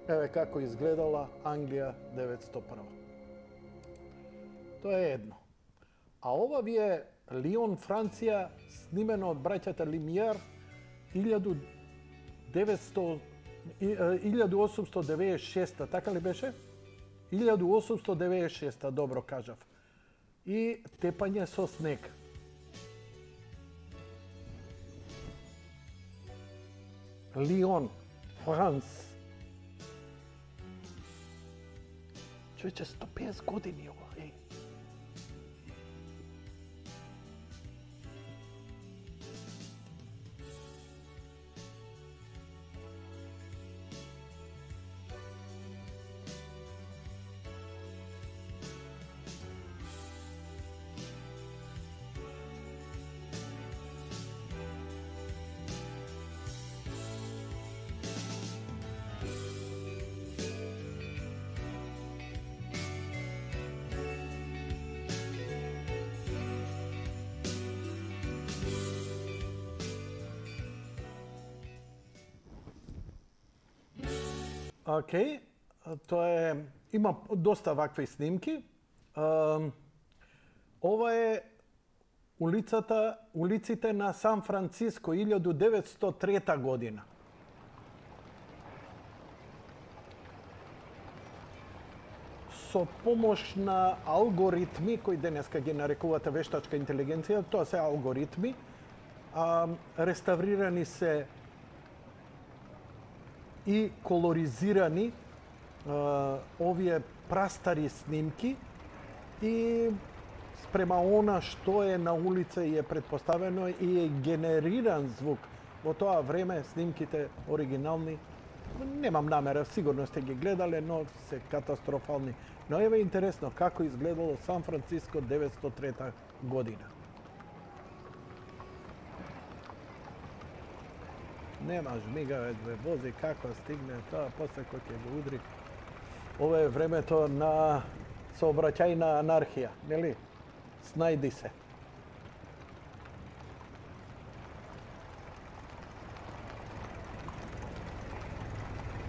Еве како изгледала Англија деветстотини и прва. Тоа е едно. А ова ви е Лион, Франција, снимено од браќата Лимијар илјаду осумстотини девеесет и шеста, така ли беше? илјаду осумстотини девеесет и шеста, добро кажав. И тепање со снег. Лион, Франц. Човече, сто и песет години ова, еј. Океј, тоа е, има доста вакви снимки. Ова е улицата, улиците на Сан Франциско илјаду деветстотини и трета година. Со помош на алгоритми, кои денеска ги нарекувате вештачка интелигенција, тоа се алгоритми, реставрирани се и колоризирани а, овие прастари снимки и спрема она што е на улица и е предпоставено и е генериран звук. Во тоа време снимките оригинални, немам намера, сигурно сте ги гледале, но се катастрофални. Но еве интересно како изгледало Сан Франциско деветстотини и трета година. Нема жмигавец, бе, вози како стигне тоа, после кој ќе го удри. Ова е времето на сообраќајна анархија, нели? Снајди се.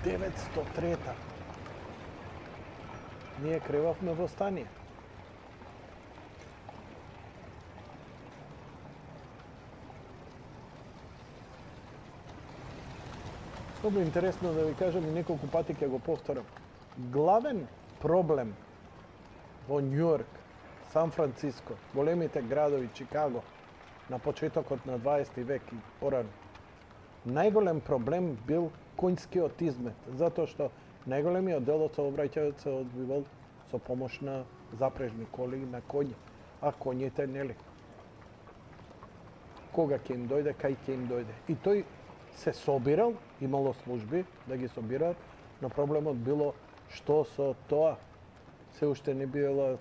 деветстотини и трета. Ние кревавме во стание. Много интересно да ви кажам и неколку пати ќе го повторам. Главен проблем во Њујорк, Сан Франциско, големите градови, Чикаго, на почетокот на дваесети век и порано, најголем проблем бил конјскиот измет, затоа што најголемиот дел од сообраќајот се одвивал со помош на запрежни коли и на коњи, а коњите нели. Кога ќе им дојде, кај ќе им дојде. И тој се собирал, имало служби да ги собираат, но проблемот било што со тоа се уште не било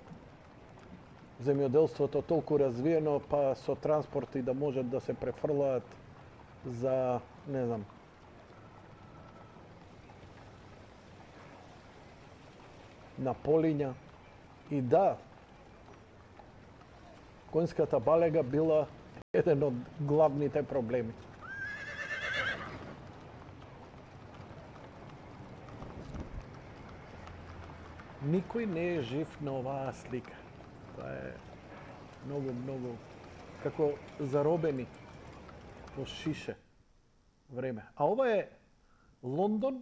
земјоделството толку развиено, па со транспорти да можат да се префрлаат за, не знам, на полиња. И да, конјската балега била еден од главните проблеми. Никој не е жив на оваа слика. Тоа е многу, многу како заробени во шише време. А ова е Лондон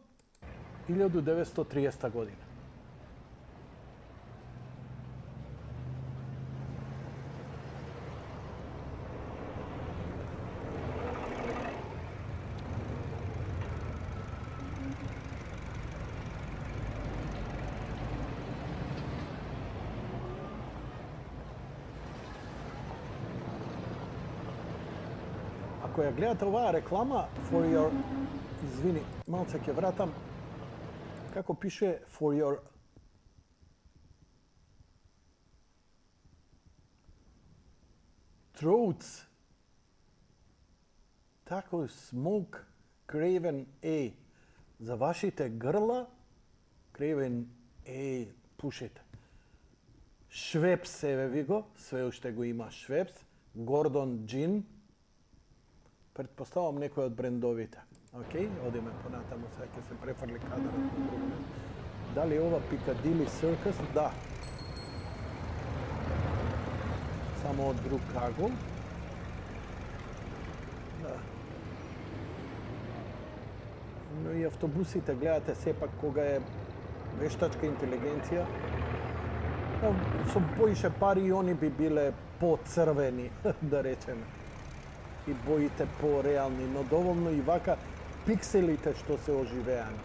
илјаду деветстотини и триесета година. Ако ја гледате оваа реклама, for your, извини, малце ќе вратам, како пише for your throats, тако smoke Craven A. За вашите грла, Craven A пушете. Швепс, еве ви го, све уште го има Швепс, Гордон Джин, предпоставам некој од брендовите. Океј, одиме понатаму, сега ќе се префрли кадарот на друго место. Дали ова Piccadilly Circus? Да. Само од друг агол. Да. Но и автобусите, гледате сепак кога е вештачка интелигенција, со поише пари и они би биле поцрвени, да речеме. И боите по-реални, но доволно и вака пикселите што се оживеани.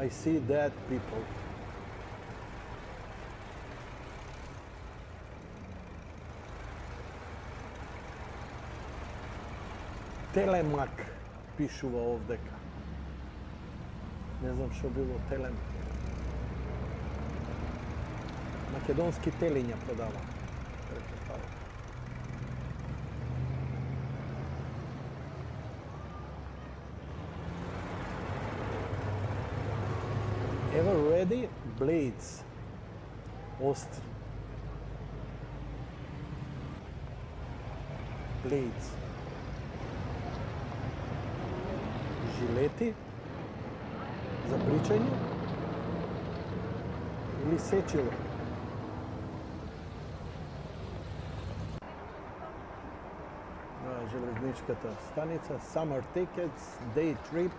I see dead people. Телемак пишува овдека. Не знам што било Телем. Македонски телиња продава. Претпоставам. Ever ready? Blades. Остри. Blades. Жилети за бричање или сечило. На железничката станица, Summer Tickets, Day Trip.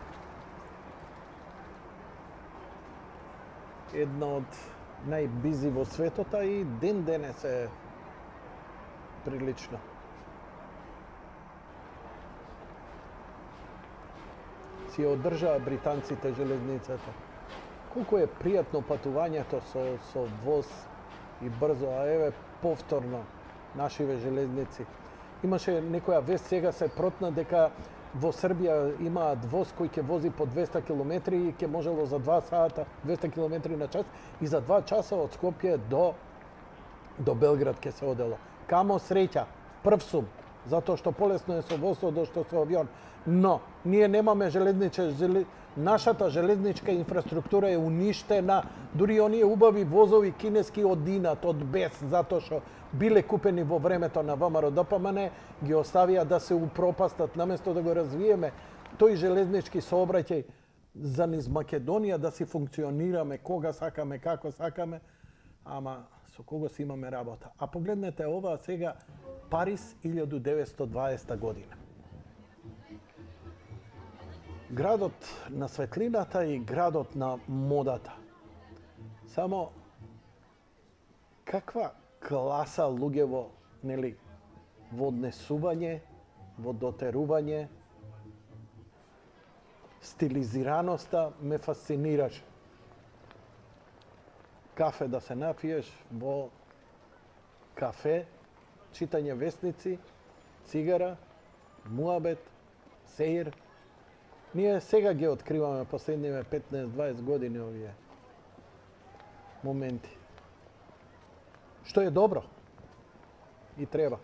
Една од најбизи во светот, и ден денес е прилично. Си ја одржаа британците железницата. Колку е пријатно патувањето со, со воз и брзо, а еве повторно нашиве железници. Имаше некоја вест, сега се протна дека во Србија имаат воз кој ќе вози по двеста километри и ќе можело за два сата, двеста километри на час, и за два часа од Скопје до, до Белград ќе се одело. Камо среќа, прв сум, затоа што полесно е со воз од што со авион. Но, ние немаме железниче, жели... нашата железничка инфраструктура е уништена, дури оние убави возови кинески одинат од без, затоа што биле купени во времето на ВМРО Д П М Н, ги оставија да се упропастат, наместо да го развиеме тој железнички сообраќај за низ Македонија да си функционираме кога сакаме, како сакаме, ама со кого си имаме работа. А погледнете ова сега, Париз, илјаду деветсто дваесета година. Градот на светлината и градот на модата. Само каква класа луѓево, нели, во однесување, во дотерување, стилизираноста ме фасцинираше. Кафе да се напиеш во кафе, читање весници, цигара, муабет, сеир. Ние сега ги откриваме последниве петнаесет-дваесет години овие моменти. Што е добро и треба.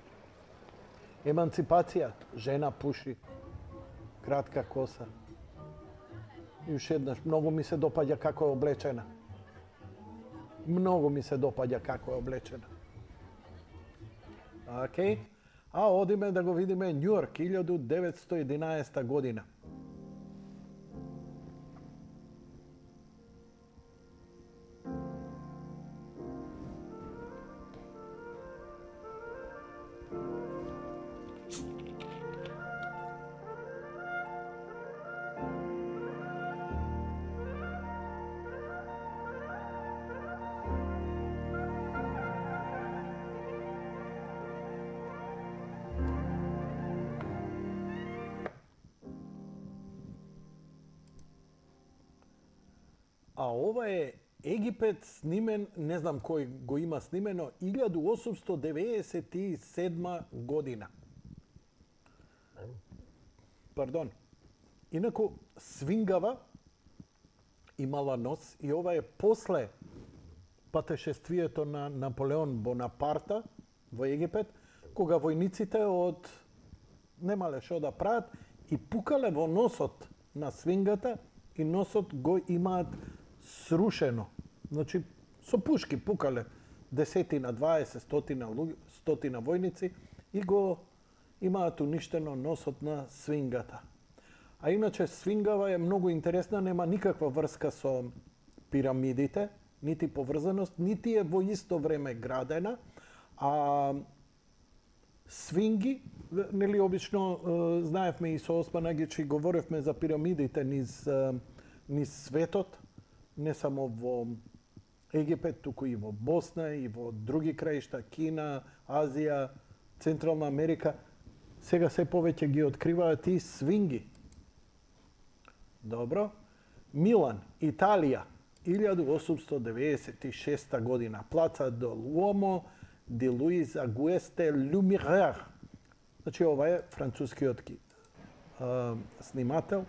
Еманципација, жена пуши, кратка коса. И уште еднаш, многу ми се допаѓа како е облечена. Многу ми се допаѓа како е облечена. Океј. А одиме да го видиме Њујорк, илјаду деветсто единаесета година. А ова е Египет снимен, не знам кој го има снимено, илјаду осумсто деветдесет и седма година. Пардон. Инаку, свингава имала нос и ова е после патешествието на Наполеон Бонапарта во Египет, кога војниците од немале што да прават и пукале во носот на свингата и носот го имаат срушено. Значи, со пушки пукале десетина, дваесет, стотина, стотина војници и го имаат уништено носот на свингата. А иначе свингава е многу интересна, нема никаква врска со пирамидите, нити поврзаност, нити е во исто време градена, а свинги, нели обично знаевме и со Осман Агичи говоревме за пирамидите низ низ светот, не само во Египет, туку и во Босна, и во други краишта, Кина, Азија, Централна Америка. Сега се повеќе ги откриваат и свинги. Добро. Милан, Италија, илјаду осумсто деветдесет и шеста година. Плаца до Луомо, де Луис Агуесте Люмирер. Значи, ова е францускиот а, снимател.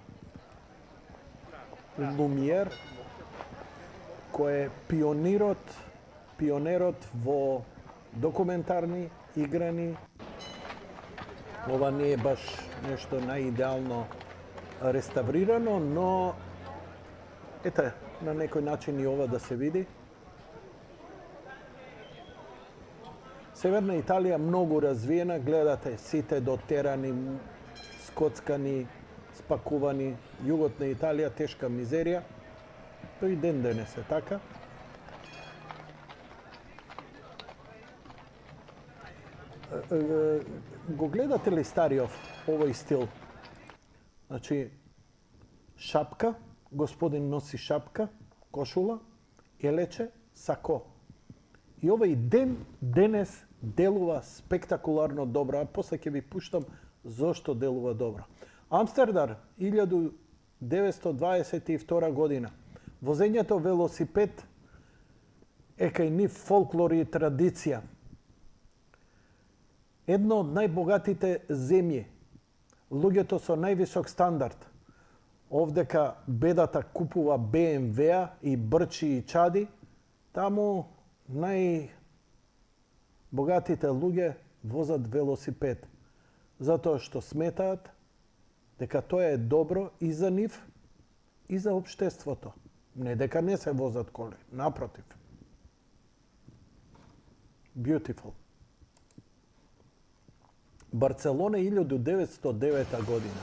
Лумиер, кој е пионерот, пионерот во документарни играни. Ова не е баш нешто наидеално реставрирано, но ете, на некој начин и ова да се види. Северна Италија многу развиена, гледате сите дотерани, скоцкани, спакувани. Југот на Италија тешка мизерија. Тој ден денес е така. Го гледате ли стариов овој стил? Значи, шапка, господин носи шапка, кошула, елече, сако. И овој ден денес делува спектакуларно добро, а после ќе ви пуштам зошто делува добро. Амстердам, илјаду деветсто дваесет и втора година. Возењето велосипед е кај нив фолклор и традиција. Едно од најбогатите земји, луѓето со највисок стандард. Овдека бедата купува Бе Ем Ве и брчи и чади, таму најбогатите луѓе возат велосипед, затоа што сметаат дека тоа е добро и за нив, и за општеството. Не дека не се возат коли, напротив. Beautiful. Барцелона илјаду деветсто девета година.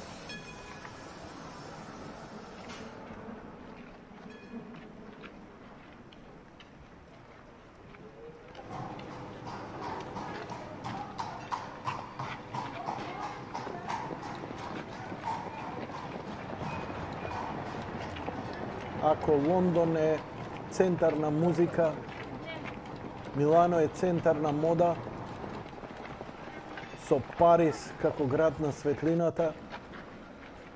ако Лондон е центар на музика, Милано е центар на мода, со Париз како град на светлината,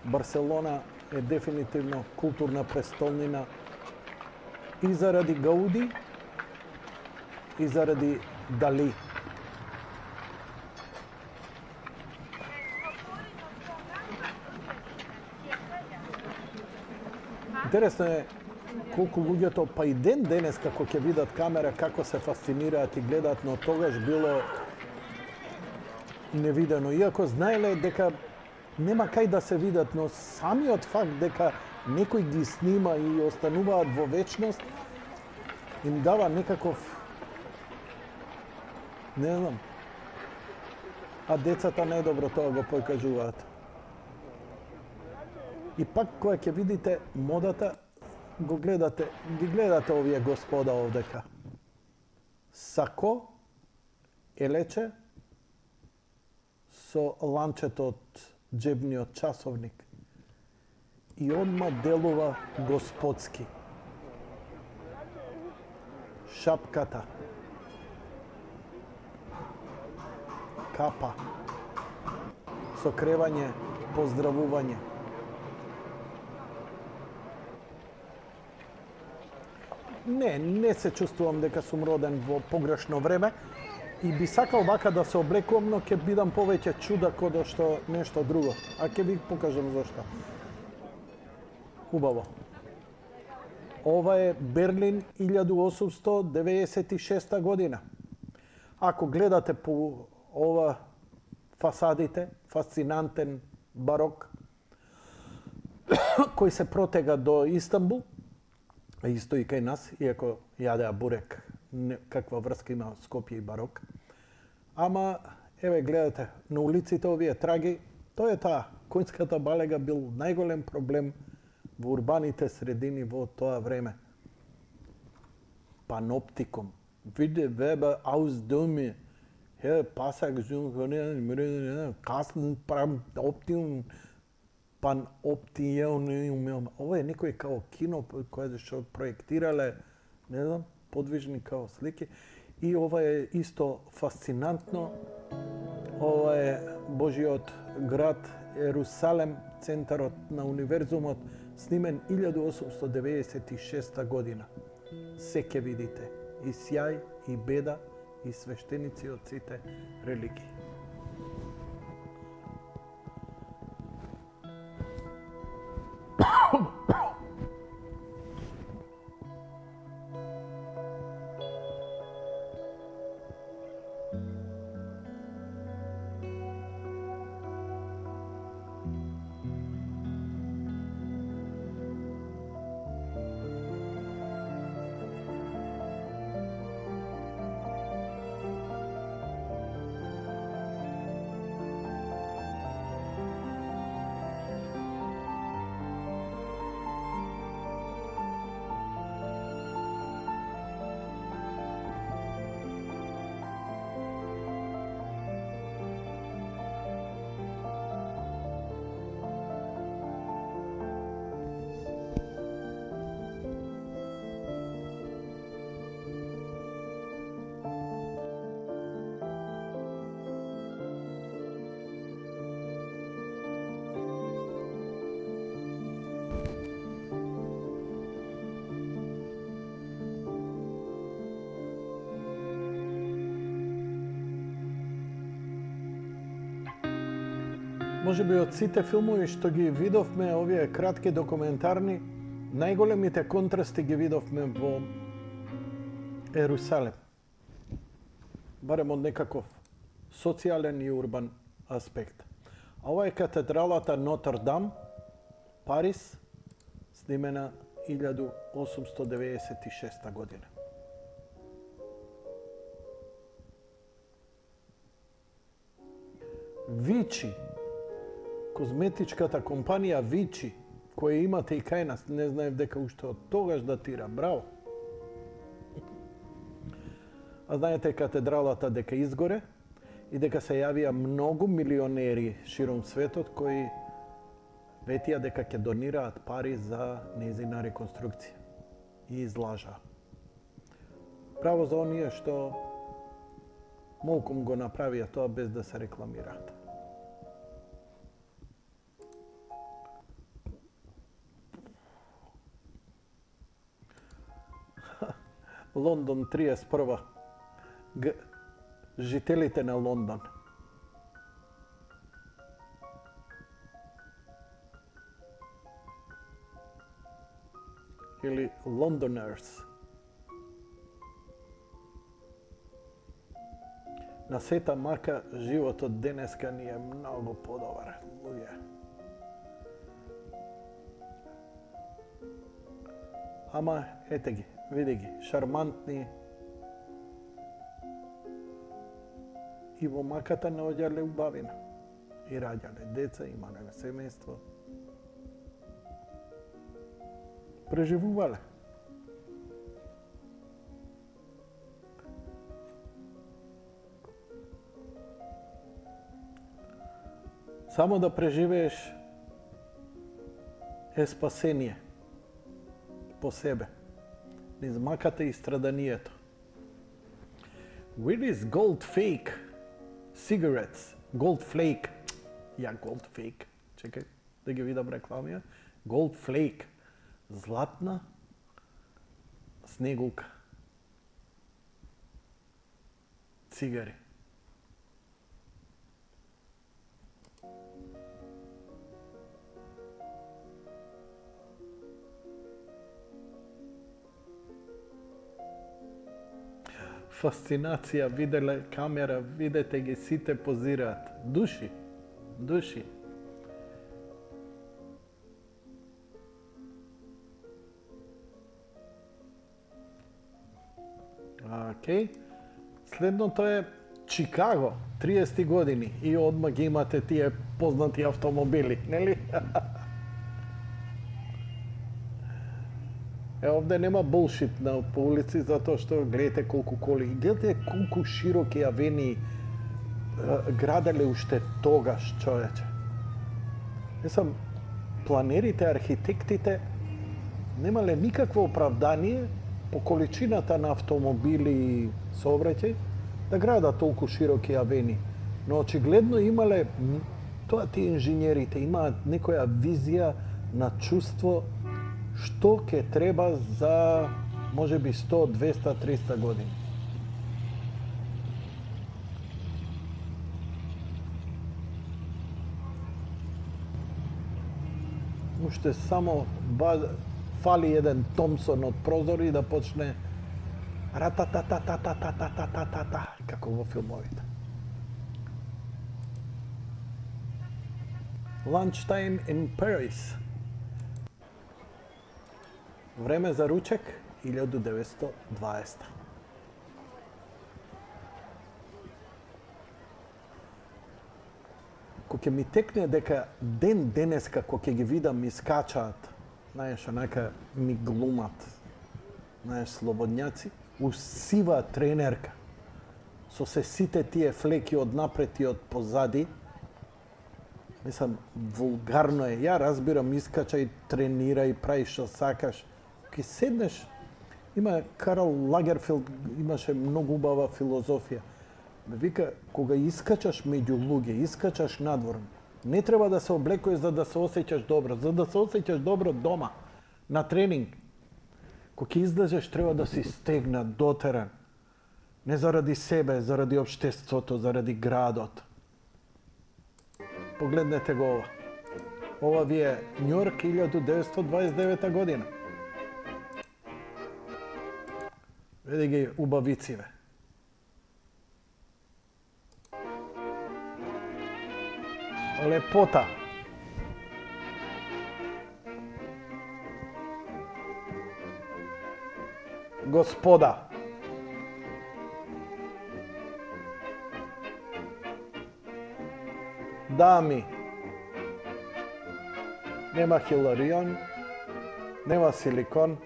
Барселона е дефинитивно културна престолнина и заради Гауди, и заради Дали. Интересно е колку луѓето, па и ден денес, како ќе видат камера, како се фасцинираат и гледаат, но тогаш било невидено. Иако знаеле дека нема кај да се видат, но самиот факт дека некој ги снима и остануваат во вечност, им дава некаков, не знам, а децата најдобро тоа го покажуваат. И пак кога ќе видите модата, го гледате, ги гледате овие господа овдека. Сако, елече, со ланчето од джебниот часовник. И одма делува господски. Шапката. Капа. Сокревање, поздравување. Не, не се чувствувам дека сум роден во погрешно време и би сакал вака да се облекувам, но ќе бидам повеќе чудак од што нешто друго. А ќе ви покажам зашто. Убаво. Ова е Берлин илјаду осумсто деветдесет и шеста година. Ако гледате по ова фасадите, фасцинантен барок, кој се протега до Истанбул, исто и кај нас, иако јадеа бурек, каква врска има Скопје и барок. Ама, еве гледате, на улиците овие траги, тоа е таа. Конјската балега бил најголем проблем во урбаните средини во тоа време. Паноптикум. Виде вебе аусдоми, хе пасак зун, касн прам оптиум, паноптијаум. Ова е некој као кино кој што проектирале, не знам, подвижни као слики. И ова е исто фасцинантно. Ова е Божиот град Ерусалем, центарот на универзумот, снимен илјаду осумсто деветдесет и шеста година. Се ке видите. И сјај, и беда, и свештеници од сите религии. Може би од сите филмови што ги видовме, овие кратки документарни, најголемите контрасти ги видовме во Ерусалем. Барем од некаков социјален и урбан аспект. А ова е катедралата Нотр-Дам, Париз, снимена илјаду осумсто деветдесет и шеста година. Вичи, козметичката компанија Вичи, која имате и кај нас, не знаев дека уште од тогаш датира. Браво! А знаете катедралата дека изгоре и дека се јавија многу милионери широм светот кои ветија дека ќе донираат пари за нејзина реконструкција и излажа. Право за оние што молком го направија тоа без да се рекламираат. Лондон триесет и прва. Г... Жителите на Лондон. Или Londoners. На сета мака животот денеска ни е многу подобар, луѓе. Ама ете ги, види ги, шармантни. И во маката наоѓале убавина. И раѓале деца, имале семејство. Преживувале. Само да преживееш е спасение по себе. Низ маката и страданието. Where is gold fake cigarettes? Gold flake. Ја gold fake. Чекај да ги видам рекламија. Gold flake. Златна снегулка. Цигари. Фасцинација, виделе камера, видете ги, сите позираат. Души, души. Океј. Следното е Чикаго, триесет години. И одма ги имате тие познати автомобили, нели? Е, овде нема булшит на по улици, затоа што гледате колку коли. Гледате колку широки авении граделе уште тогаш, човече. Не сам, планерите, архитектите немале никакво оправдание по количината на автомобили и сообраќај да градат толку широки авении. Но очигледно имале, тоа тие инженерите имаат некоја визија на чувство што ќе треба за можеби сто, двесте, триста години. Уште само фали еден Томсон од прозор и да почне ратататататататататата, како во филмовите. Lunchtime in Paris. Време за ручек, илјада деветстотини и дваесета. Кога ќе ми текне дека ден денеска, кога ќе ги видам ми скачаат, знаеш, онака ми глумат, знаеш, слободњаци, усива тренерка, со се сите тие флеки од напред и од позади, мислам, вулгарно е. Ја разбирам, искачај, тренирај, прави што сакаш. Ке седнеш, има Карл Лагерфелд, имаше многу убава филозофија. Ме вика, кога искачаш меѓу луѓе, искачаш надвор, не треба да се облекуваш за да се осеќаш добро, за да се осеќаш добро дома, на тренинг. Кога ќе излезеш, треба да си стегнат, дотеран. Не заради себе, заради општеството, заради градот. Погледнете го ова. Ова ви е Њујорк илјада деветстотини дваесет и девета година. Види ги убавициве. Лепота. Господа. Дами. Нема хиларион, нема силикон.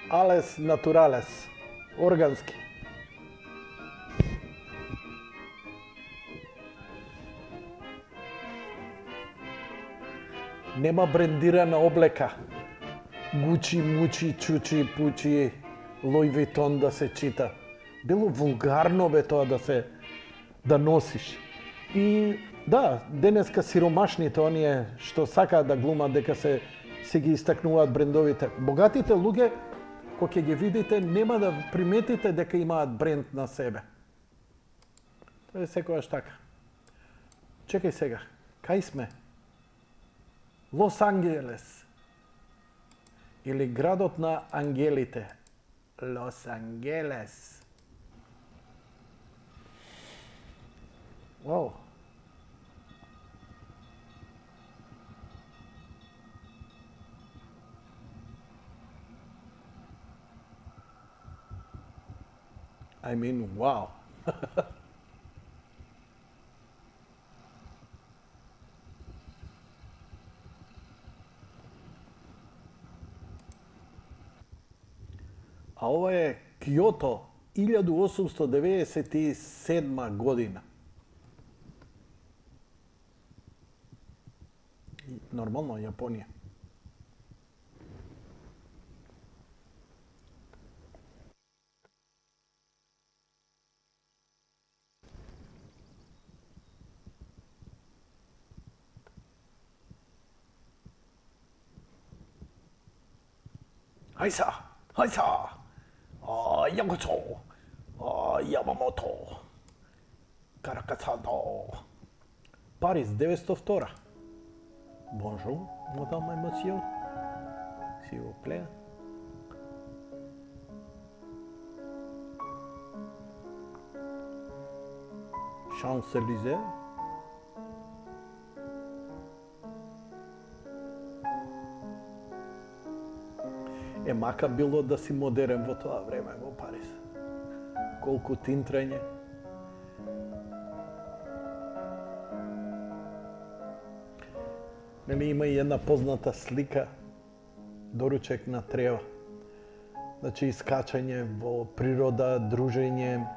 Алес натуралес, органски. Нема брендирана облека. Гучи, мучи, чучи, пучи, Луи Витон да се чита. Било вулгарно бе тоа да се да носиш. И да, денеска сиромашните оние што сакаат да глумат дека се се ги истакнуваат брендовите. Богатите луѓе кога ќе ги видите нема да приметите дека имаат бренд на себе. Тоа е секогаш така. Чекај сега, кај сме? Лос Анджелес. Или градот на ангелите. Лос Анджелес. Вау. I mean, wow. А ова е Киото, илјаду осумсто деведесет и седма година. Нормално, Јапонија. Хајса, хајса. А, Јагочо. А, Јамамото. Каракасато. Париз, деветстотини и втора. Bonjour, madame et monsieur. S'il vous plaît. Champs-Élysées. Е, мака било да си модерен во тоа време во Париз. Колку тинтрење. Нели има и една позната слика, доручек на трева. Значи, искачање во природа, дружење,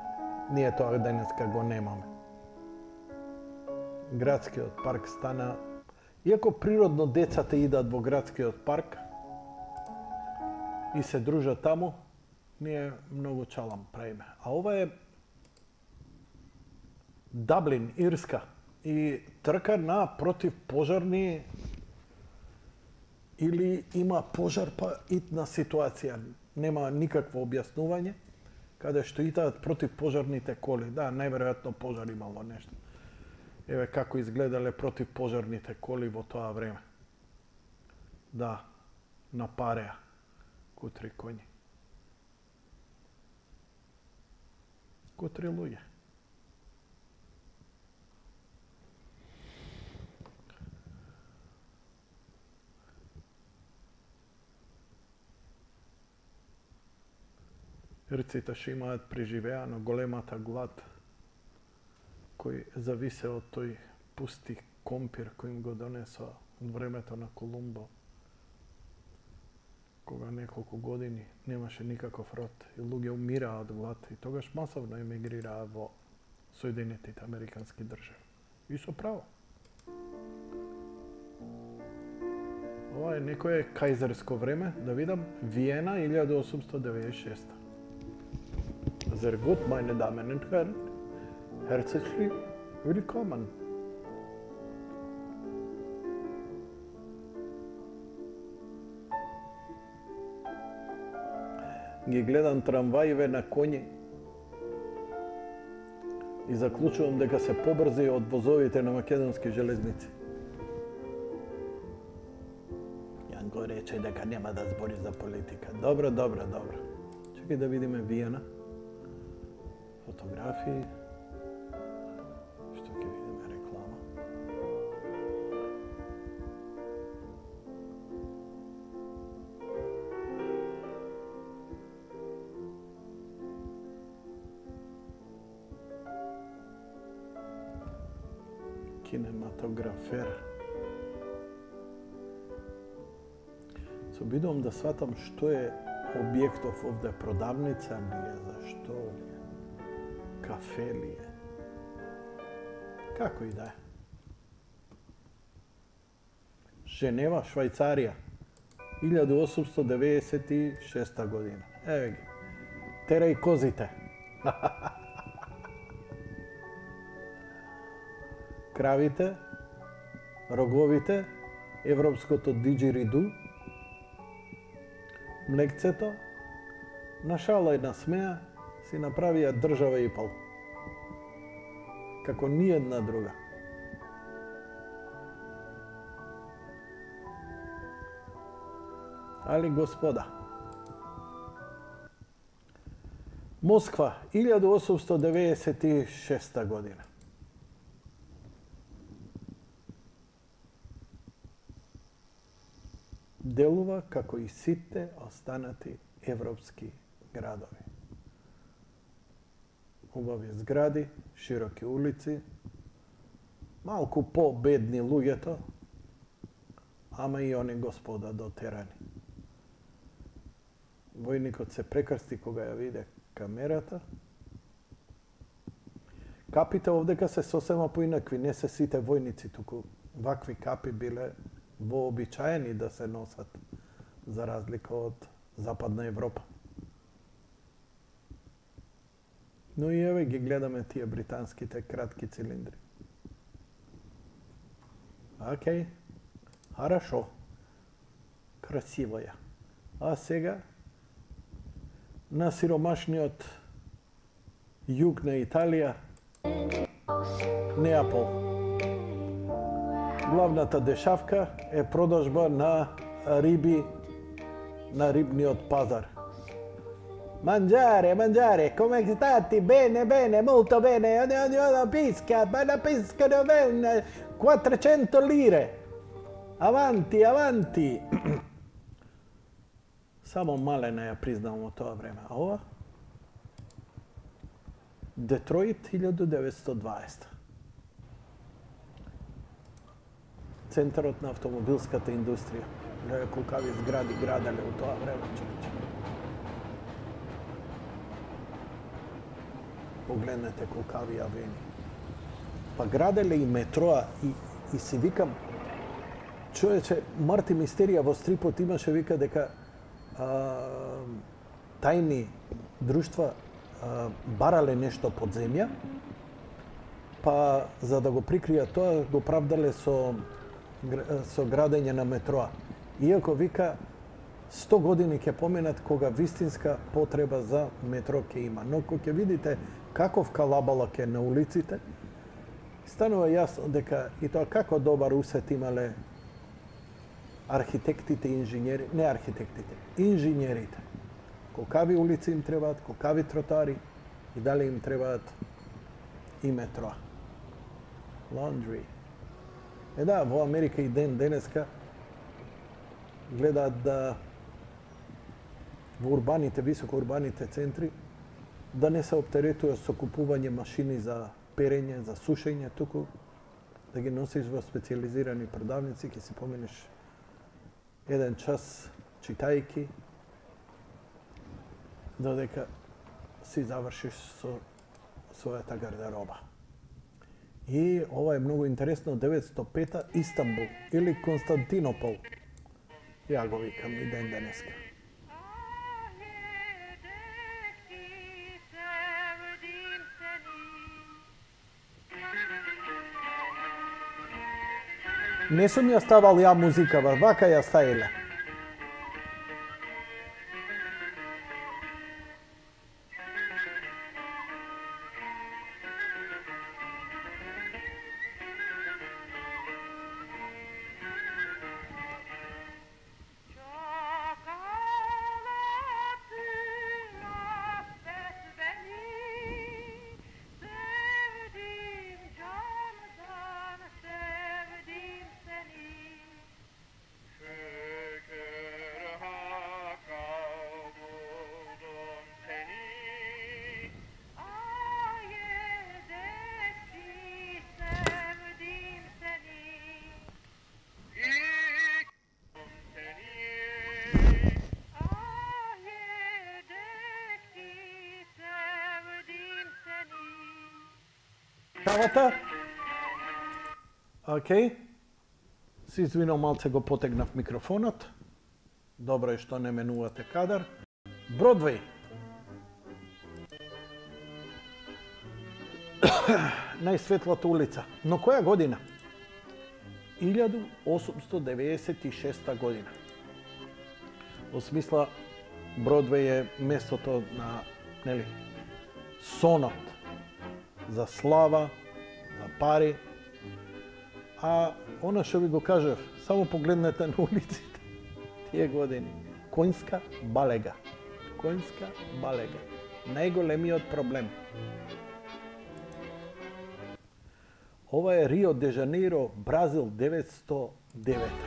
ние тоа денеска го немаме. Градскиот парк стана, иако природно децата идат во градскиот парк и се дружат таму, ние многу чалам правиме. А ова е Даблин, Ирска. И трка на противпожарни или има пожар па итна ситуација. Нема никакво објаснување каде што итаат противпожарните коли. Да, најверојатно пожар имало нешто. Еве како изгледале противпожарните коли во тоа време. Да, на пареа, кутри коњи. Кутри луѓе. Ирците што имаат преживеа на големата глад, кој зависе од тој пусти компир кој им го донесоа од времето на Колумбо, кога неколку години немаше никаков род и луѓе умираа од глад и тогаш масовно емигрираа во Соединетите Американски држави. И со право. Ова е некое кајзерско време, да видам, Виена, илјаду осумсто деведесет и шеста. Sehr gut, meine Damen und Herren. Herzlich willkommen. Ги гледам трамваиве на коњи и заклучувам дека се побрзи од возовите на македонски железници. Јан го рече дека нема да збори за политика. Добро, добро, добро. Чекај да видиме Виена. Фотографии. Што ќе видиме реклама. Кинематографер. Се обидувам да сватам што е објектов овде, продавница ли е, зашто ли е, кафе ли е, како и да е. Женева, Швајцарија, илјаду осумсто деветдесет и шеста година. Еве ги. Терај козите. Кравите, роговите, европското диџериду, млекцето, на шала и на смеа си направија држава и пол. Како ни една друга. Али господа, Москва, илјаду осумсто деветдесет и шеста година. Делува како и сите останати европски градови. Убави згради, широки улици, малку по-бедни луѓето, ама и они господа дотерани. Војникот се прекрсти кога ја виде камерата. Капите овдека се сосема поинакви, не се сите војници, туку вакви капи биле вообичаени да се носат, за разлика од Западна Европа. Но и еве ги гледаме тие британските кратки цилиндри. Океј, хорошо, красиво ја. А сега, на сиромашниот југ на Италија, Неапол. Главната дешавка е продажба на риби на рибниот пазар. Mangiare, mangiare, come stati? Bene, bene, molto bene. La pesca, ma la pesca dove? quattrocento lire. Avanti, avanti. Само малена ја признам во тоа време. А ова? Детройт, илјаду деветстотини и дваесета. Центарот на автомобилската индустрија. Гледа колкави згради граделе во тоа време, човече. Погледнете колкави авени. Па граделе и метроа и, и си викам, човече, Марти Мистерија во стрипот имаше вика дека а, тајни друштва а, барале нешто под земја, па за да го прикријат тоа го правдале со со градење на метроа. Иако вика сто години ќе поминат кога вистинска потреба за метро ќе има. Но кога ќе видите каков калабалак е на улиците, станува јасно дека и тоа како добар усет имале архитектите и инженери, не архитектите, инженерите. Колкави улици им требаат, колкави тротари и дали им требаат и метро. Laundry. Е да, во Америка и ден денеска гледаат да во урбаните, високо урбаните центри да не се оптеретува со купување машини за перење, за сушење, туку да ги носиш во специализирани продавници, ќе си поминеш еден час читајки, додека си завршиш со својата гардероба. И ова е многу интересно, деветстотини и пета Истанбул или Константинопол. Ја го викам и ден денеска. Не сум ја ставал ја музика, вака ја ставила. Кавата? Океј. Се извинувам, малце го потегнав микрофонот. Добро е што не менувате кадар. Бродвеј. Најсветлата улица. Но која година? илјаду осумстотини деветдесет и шеста година. Во смисла, Бродвеј е местото на, нели, сонот за слава, за пари. А она што ви го кажав, само погледнете на улиците тие години. Коњска балега. Коњска балега. Најголемиот проблем. Ова е Рио де Жанеиро, Бразил, деветстотини и девета.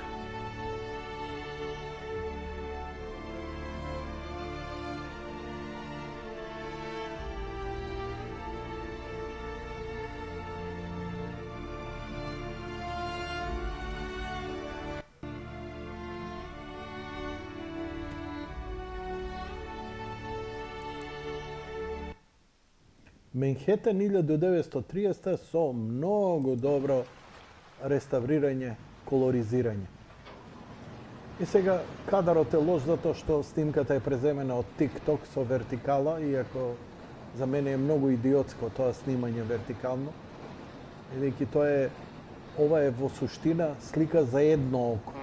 Менхетен илјаду деветстотини и триесета со многу добро реставрирање, колоризирање. И сега кадарот е лош затоа што снимката е преземена од TikTok со вертикала, иако за мене е многу идиотско тоа снимање вертикално. Бидејќи тоа е, ова е во суштина слика за едно око.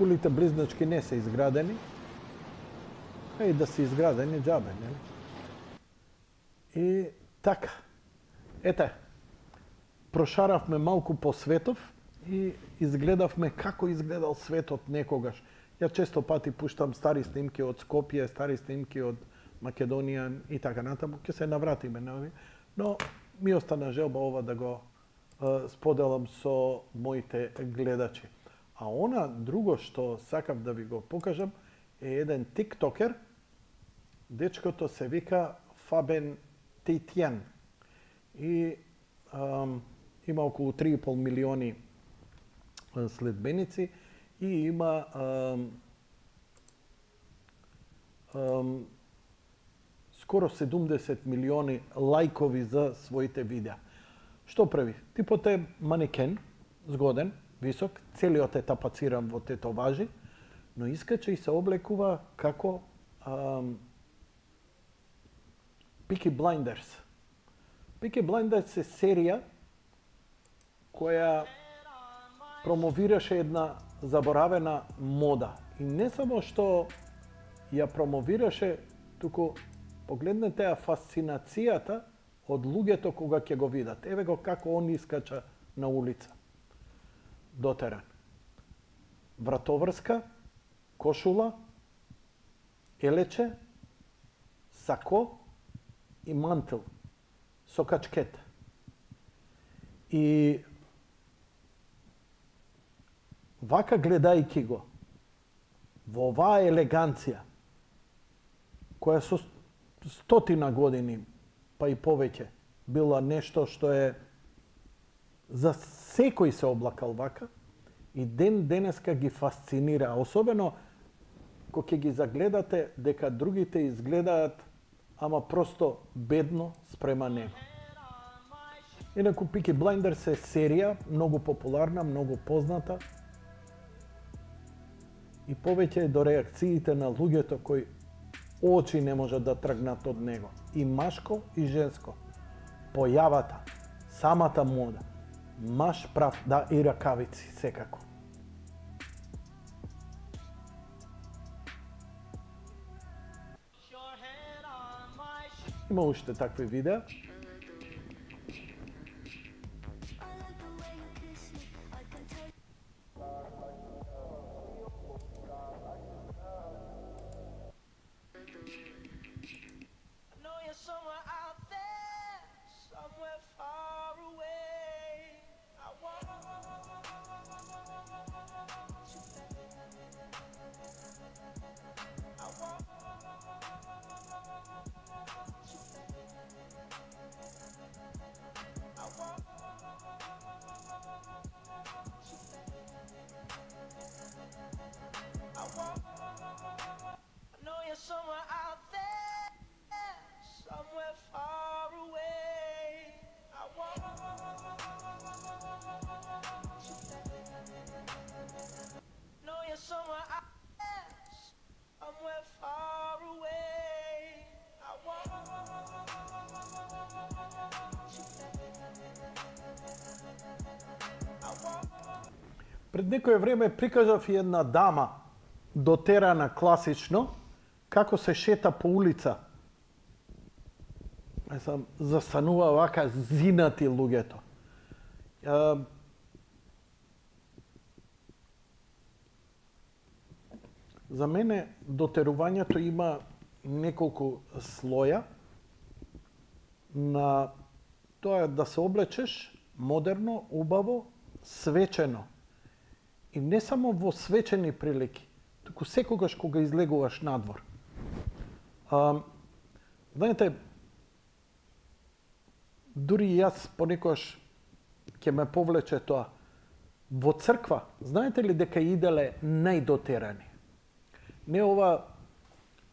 Кулите близначки не се изградени, а и да се изградени џабе, нели? И така, ете, прошаравме малку по светов и изгледавме како изгледал светот некогаш. Ја често пати пуштам стари снимки од Скопје, стари снимки од Македонија и така натаму, ќе се навратиме на овие, но ми остана желба ова да го е, споделам со моите гледачи. А она друго што сакав да ви го покажам е еден тиктокер. Дечкото се вика Фабен Тейтјан. И ам, има околу три и пол милиони следбеници и има ам, ам, скоро седумдесет милиони лајкови за своите видеа. Што прави? Типот е манекен, згоден, висок, целиот е тапациран во тетоважи, но искача и се облекува како ам, Peaky Blinders. Peaky Blinders е серија која промовираше една заборавена мода. И не само што ја промовираше, туку погледнете ја фасцинацијата од луѓето кога ќе го видат. Еве го како он искача на улица. Дотеран. Вратоврска, кошула, елече, сако и мантил со качкет. И вака гледајќи го, во оваа елеганција, која со стотина години, па и повеќе, била нешто што е за секој се облакал вака, и ден денеска ги фасцинира, особено кога ќе ги загледате дека другите изгледаат ама просто бедно спрема него. Инаку Peaky Blinders е серија многу популарна, многу позната и повеќе е до реакциите на луѓето кои очи не можат да тргнат од него. И машко и женско. Појавата, самата мода, маш прав, да, и ракавици секако. Има уште такви видеа. Пред некое време прикажав и една дама, дотерана класично, како се шета по улица. Е сам застанува вака зинати луѓето. Е, за мене дотерувањето има неколку слоја на тоа да се облечеш модерно, убаво, свечено. И не само во свечени прилики, туку секогаш кога излегуваш надвор. А, знаете, дури јас понекогаш ќе ме повлече тоа. Во црква, знаете ли дека иделе најдотерани? Не ова,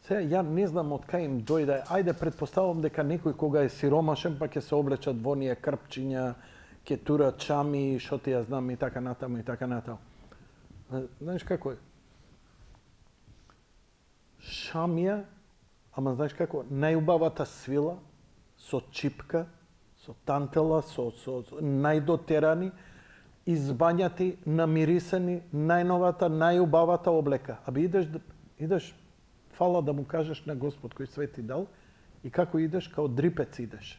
сега ја не знам од кај им дојде, ајде предпоставам дека некој кога е сиромашен па ќе се облечат во оние крпчиња, ќе турат чами, шо ти ја знам и така натаму и така натаму. Знаеш како е? Шамија, ама знаеш како, најубавата свила, со чипка, со тантела, со, со, со најдотерани, избањати, намирисани, најновата, најубавата облека. Аби идеш, идеш, фала да му кажеш на Господ кој свет ти дал, и како идеш, као дрипец идеш.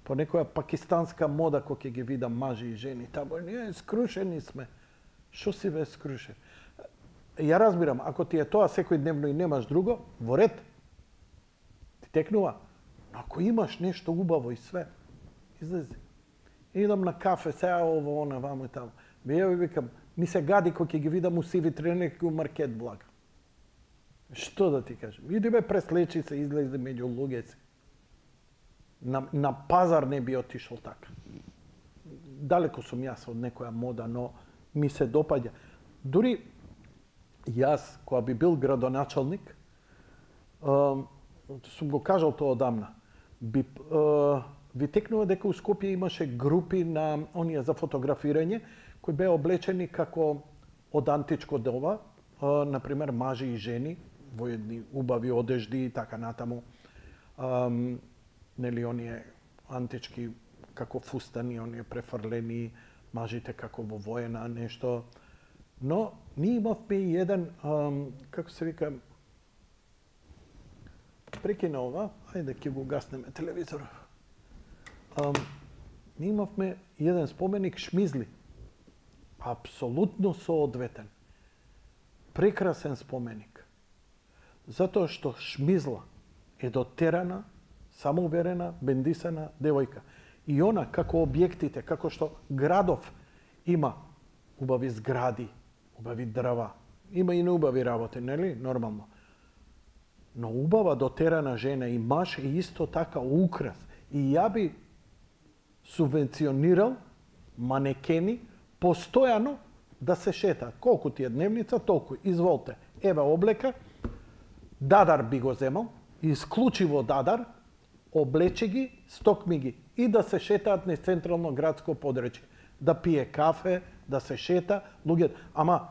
По некоја пакистанска мода кој ќе ги видам мажи и жени, тамо ние скрушени сме. Шо си бе скрушен? Ја разбирам, ако ти е тоа секојдневно и немаш друго, во ред. Ти текнува. Но ако имаш нешто убаво и све, излези. Идам на кафе, сега ово, она, вамо и тамо. Ја ви викам, ми се гади кој ќе ги видам у сиви тренерки у маркет блага. Што да ти кажем? Иди бе, преслечи се, излези меѓу луѓеци. На, на пазар не би отишол така. Далеко сум јас од некоја мода, но ми се допаѓа. Дури јас, кога би бил градоначалник, uh, сум го кажал тоа одамна, би, uh, ви текнува дека у Скопје имаше групи на оние за фотографирање, кои беа облечени како од античко доба, uh, например мажи и жени, во едни убави одежди и така натаму. Um, нели оние антички како фустани, оние префрлени, мажите како во воена нешто. Но ние имавме и еден, ам, како се вика, прекина ова, ајде ќе го гаснеме телевизор. Ам, ние имавме еден споменик Шмизли. Апсолутно соодветен. Прекрасен споменик. Затоа што Шмизла е дотерана, самоуверена, бендисана девојка. И она, како објектите, како што градов има убави згради, убави дрва, има и неубави работи, нели? Нормално. Но убава дотерана жена и маж е исто така украс. И ја би субвенционирал манекени постојано да се шета. Колку ти е дневница, толку. Изволте. Еве облека, дадар би го земал, исклучиво дадар, облече ги, стокми ги и да се шетаат низ централно градско подречје. Да пие кафе, да се шета, луѓето. Ама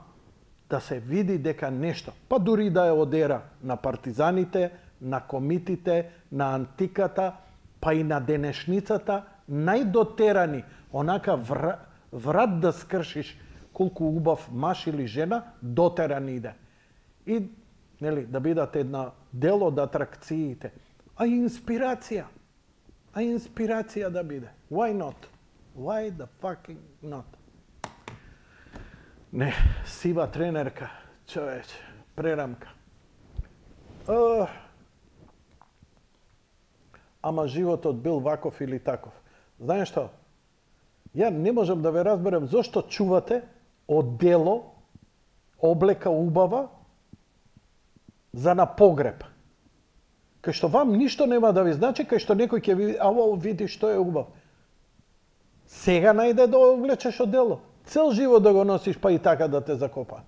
да се види дека нешто, па дури да е одера на партизаните, на комитите, на антиката, па и на денешницата, најдотерани, онака вра, врат да скршиш колку убав маж или жена, дотеран иде. И нели, да бидат една дел од атракциите. А инспирација. А инспирација да биде. Why not? Why the fucking not? Не, сива тренерка, човече, прерамка. Uh, ама животот бил ваков или таков. Знаеш што? Ја не можам да ве разберам зошто чувате одело, облека убава за на погреб. Кај што вам ништо нема да ви значи, кај што некој ќе ви, а ово види што е убав. Сега најде да облечеш одело. Цел живот да го носиш, па и така да те закопаат.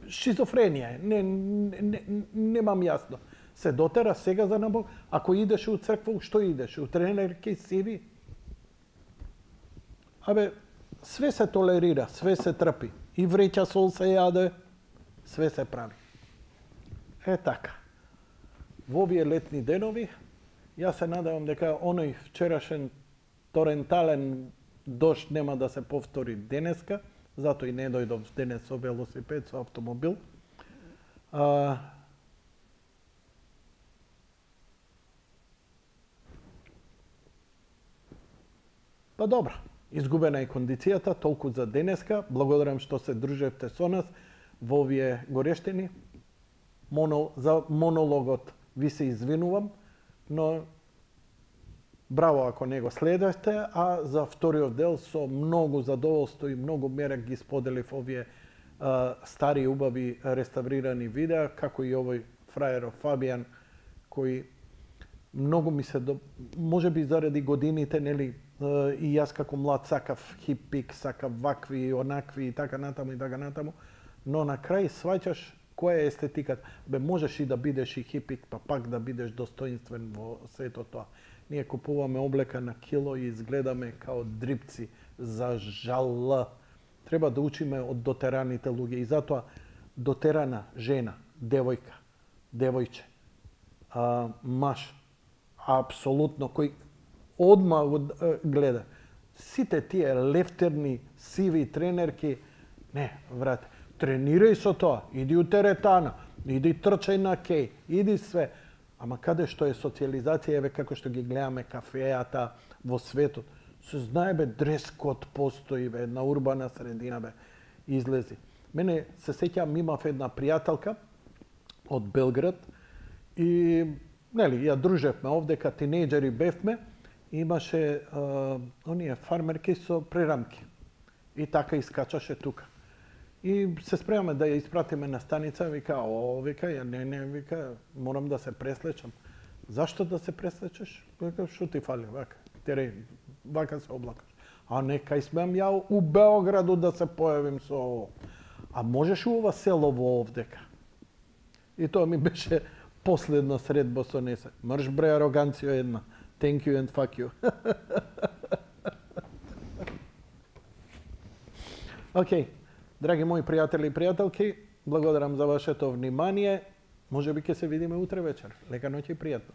Шизофренија е. Не, не, не, немам јасно. Се дотера сега за набог. Ако идеш у црква, што идеш? У тренерки сиви? Абе, све се толерира, све се трпи. И вреќа сол се јаде, све се прави. Е така. Во овие летни денови, јас се надевам дека оној вчерашен торентален дожд нема да се повтори денеска, затоа и не дојдов денес со велосипед, со автомобил. А, Па добро, изгубена е кондицијата, толку за денеска. Благодарам што се дружевте со нас во овие горештини. Моно, за монологот ви се извинувам, но браво ако не го следевте, а за вториот дел со многу задоволство и многу мерак ги споделив овие а, стари убави реставрирани видеа, како и овој фрајеров Фабијан, кој многу ми се, до... може би заради годините, нели, и јас како млад сакав хипик, сакав вакви, онакви и така натаму и така натаму, но на крај сваќаш која е естетиката. Бе, можеш и да бидеш и хипик, па пак да бидеш достоинствен во сето тоа. Ние купуваме облека на кило и изгледаме као дрипци, за жал. Треба да учиме од дотераните луѓе и затоа дотерана жена, девојка, девојче, а, маж, апсолутно, кој одма гледа. Сите тие лефтерни, сиви тренерки, не, брате, тренирај со тоа, иди у теретана, иди трчај на кеј, иди све. Ама каде што е социализација, еве како што ги гледаме кафејата во светот, се знае бе, дрес-код постои бе, на урбана средина бе, излези. Мене се сеќавам, имав една пријателка од Белград и, нели, ја дружевме овдека, тинејџери бевме, имаше а, оние фармерки со прерамки. И така искачаше тука. И се спремаме да ја испратиме на станица, вика, о, вика, ја не, не, вика, морам да се преслечам. Зашто да се преслечеш? Вика, шо ти фали, вака, тереј, вака се облакаш. А не, кај смеам ја у Београду да се појавим со ово. А можеш у ова село во овдека? И тоа ми беше последна средба со несе. Мрш бре, ароганција една. Thank you and fuck you. Океј, okay. Драги мои пријатели и пријателки, благодарам за вашето внимание. Може би ќе се видиме утре вечер. Лека ноќ и пријатно.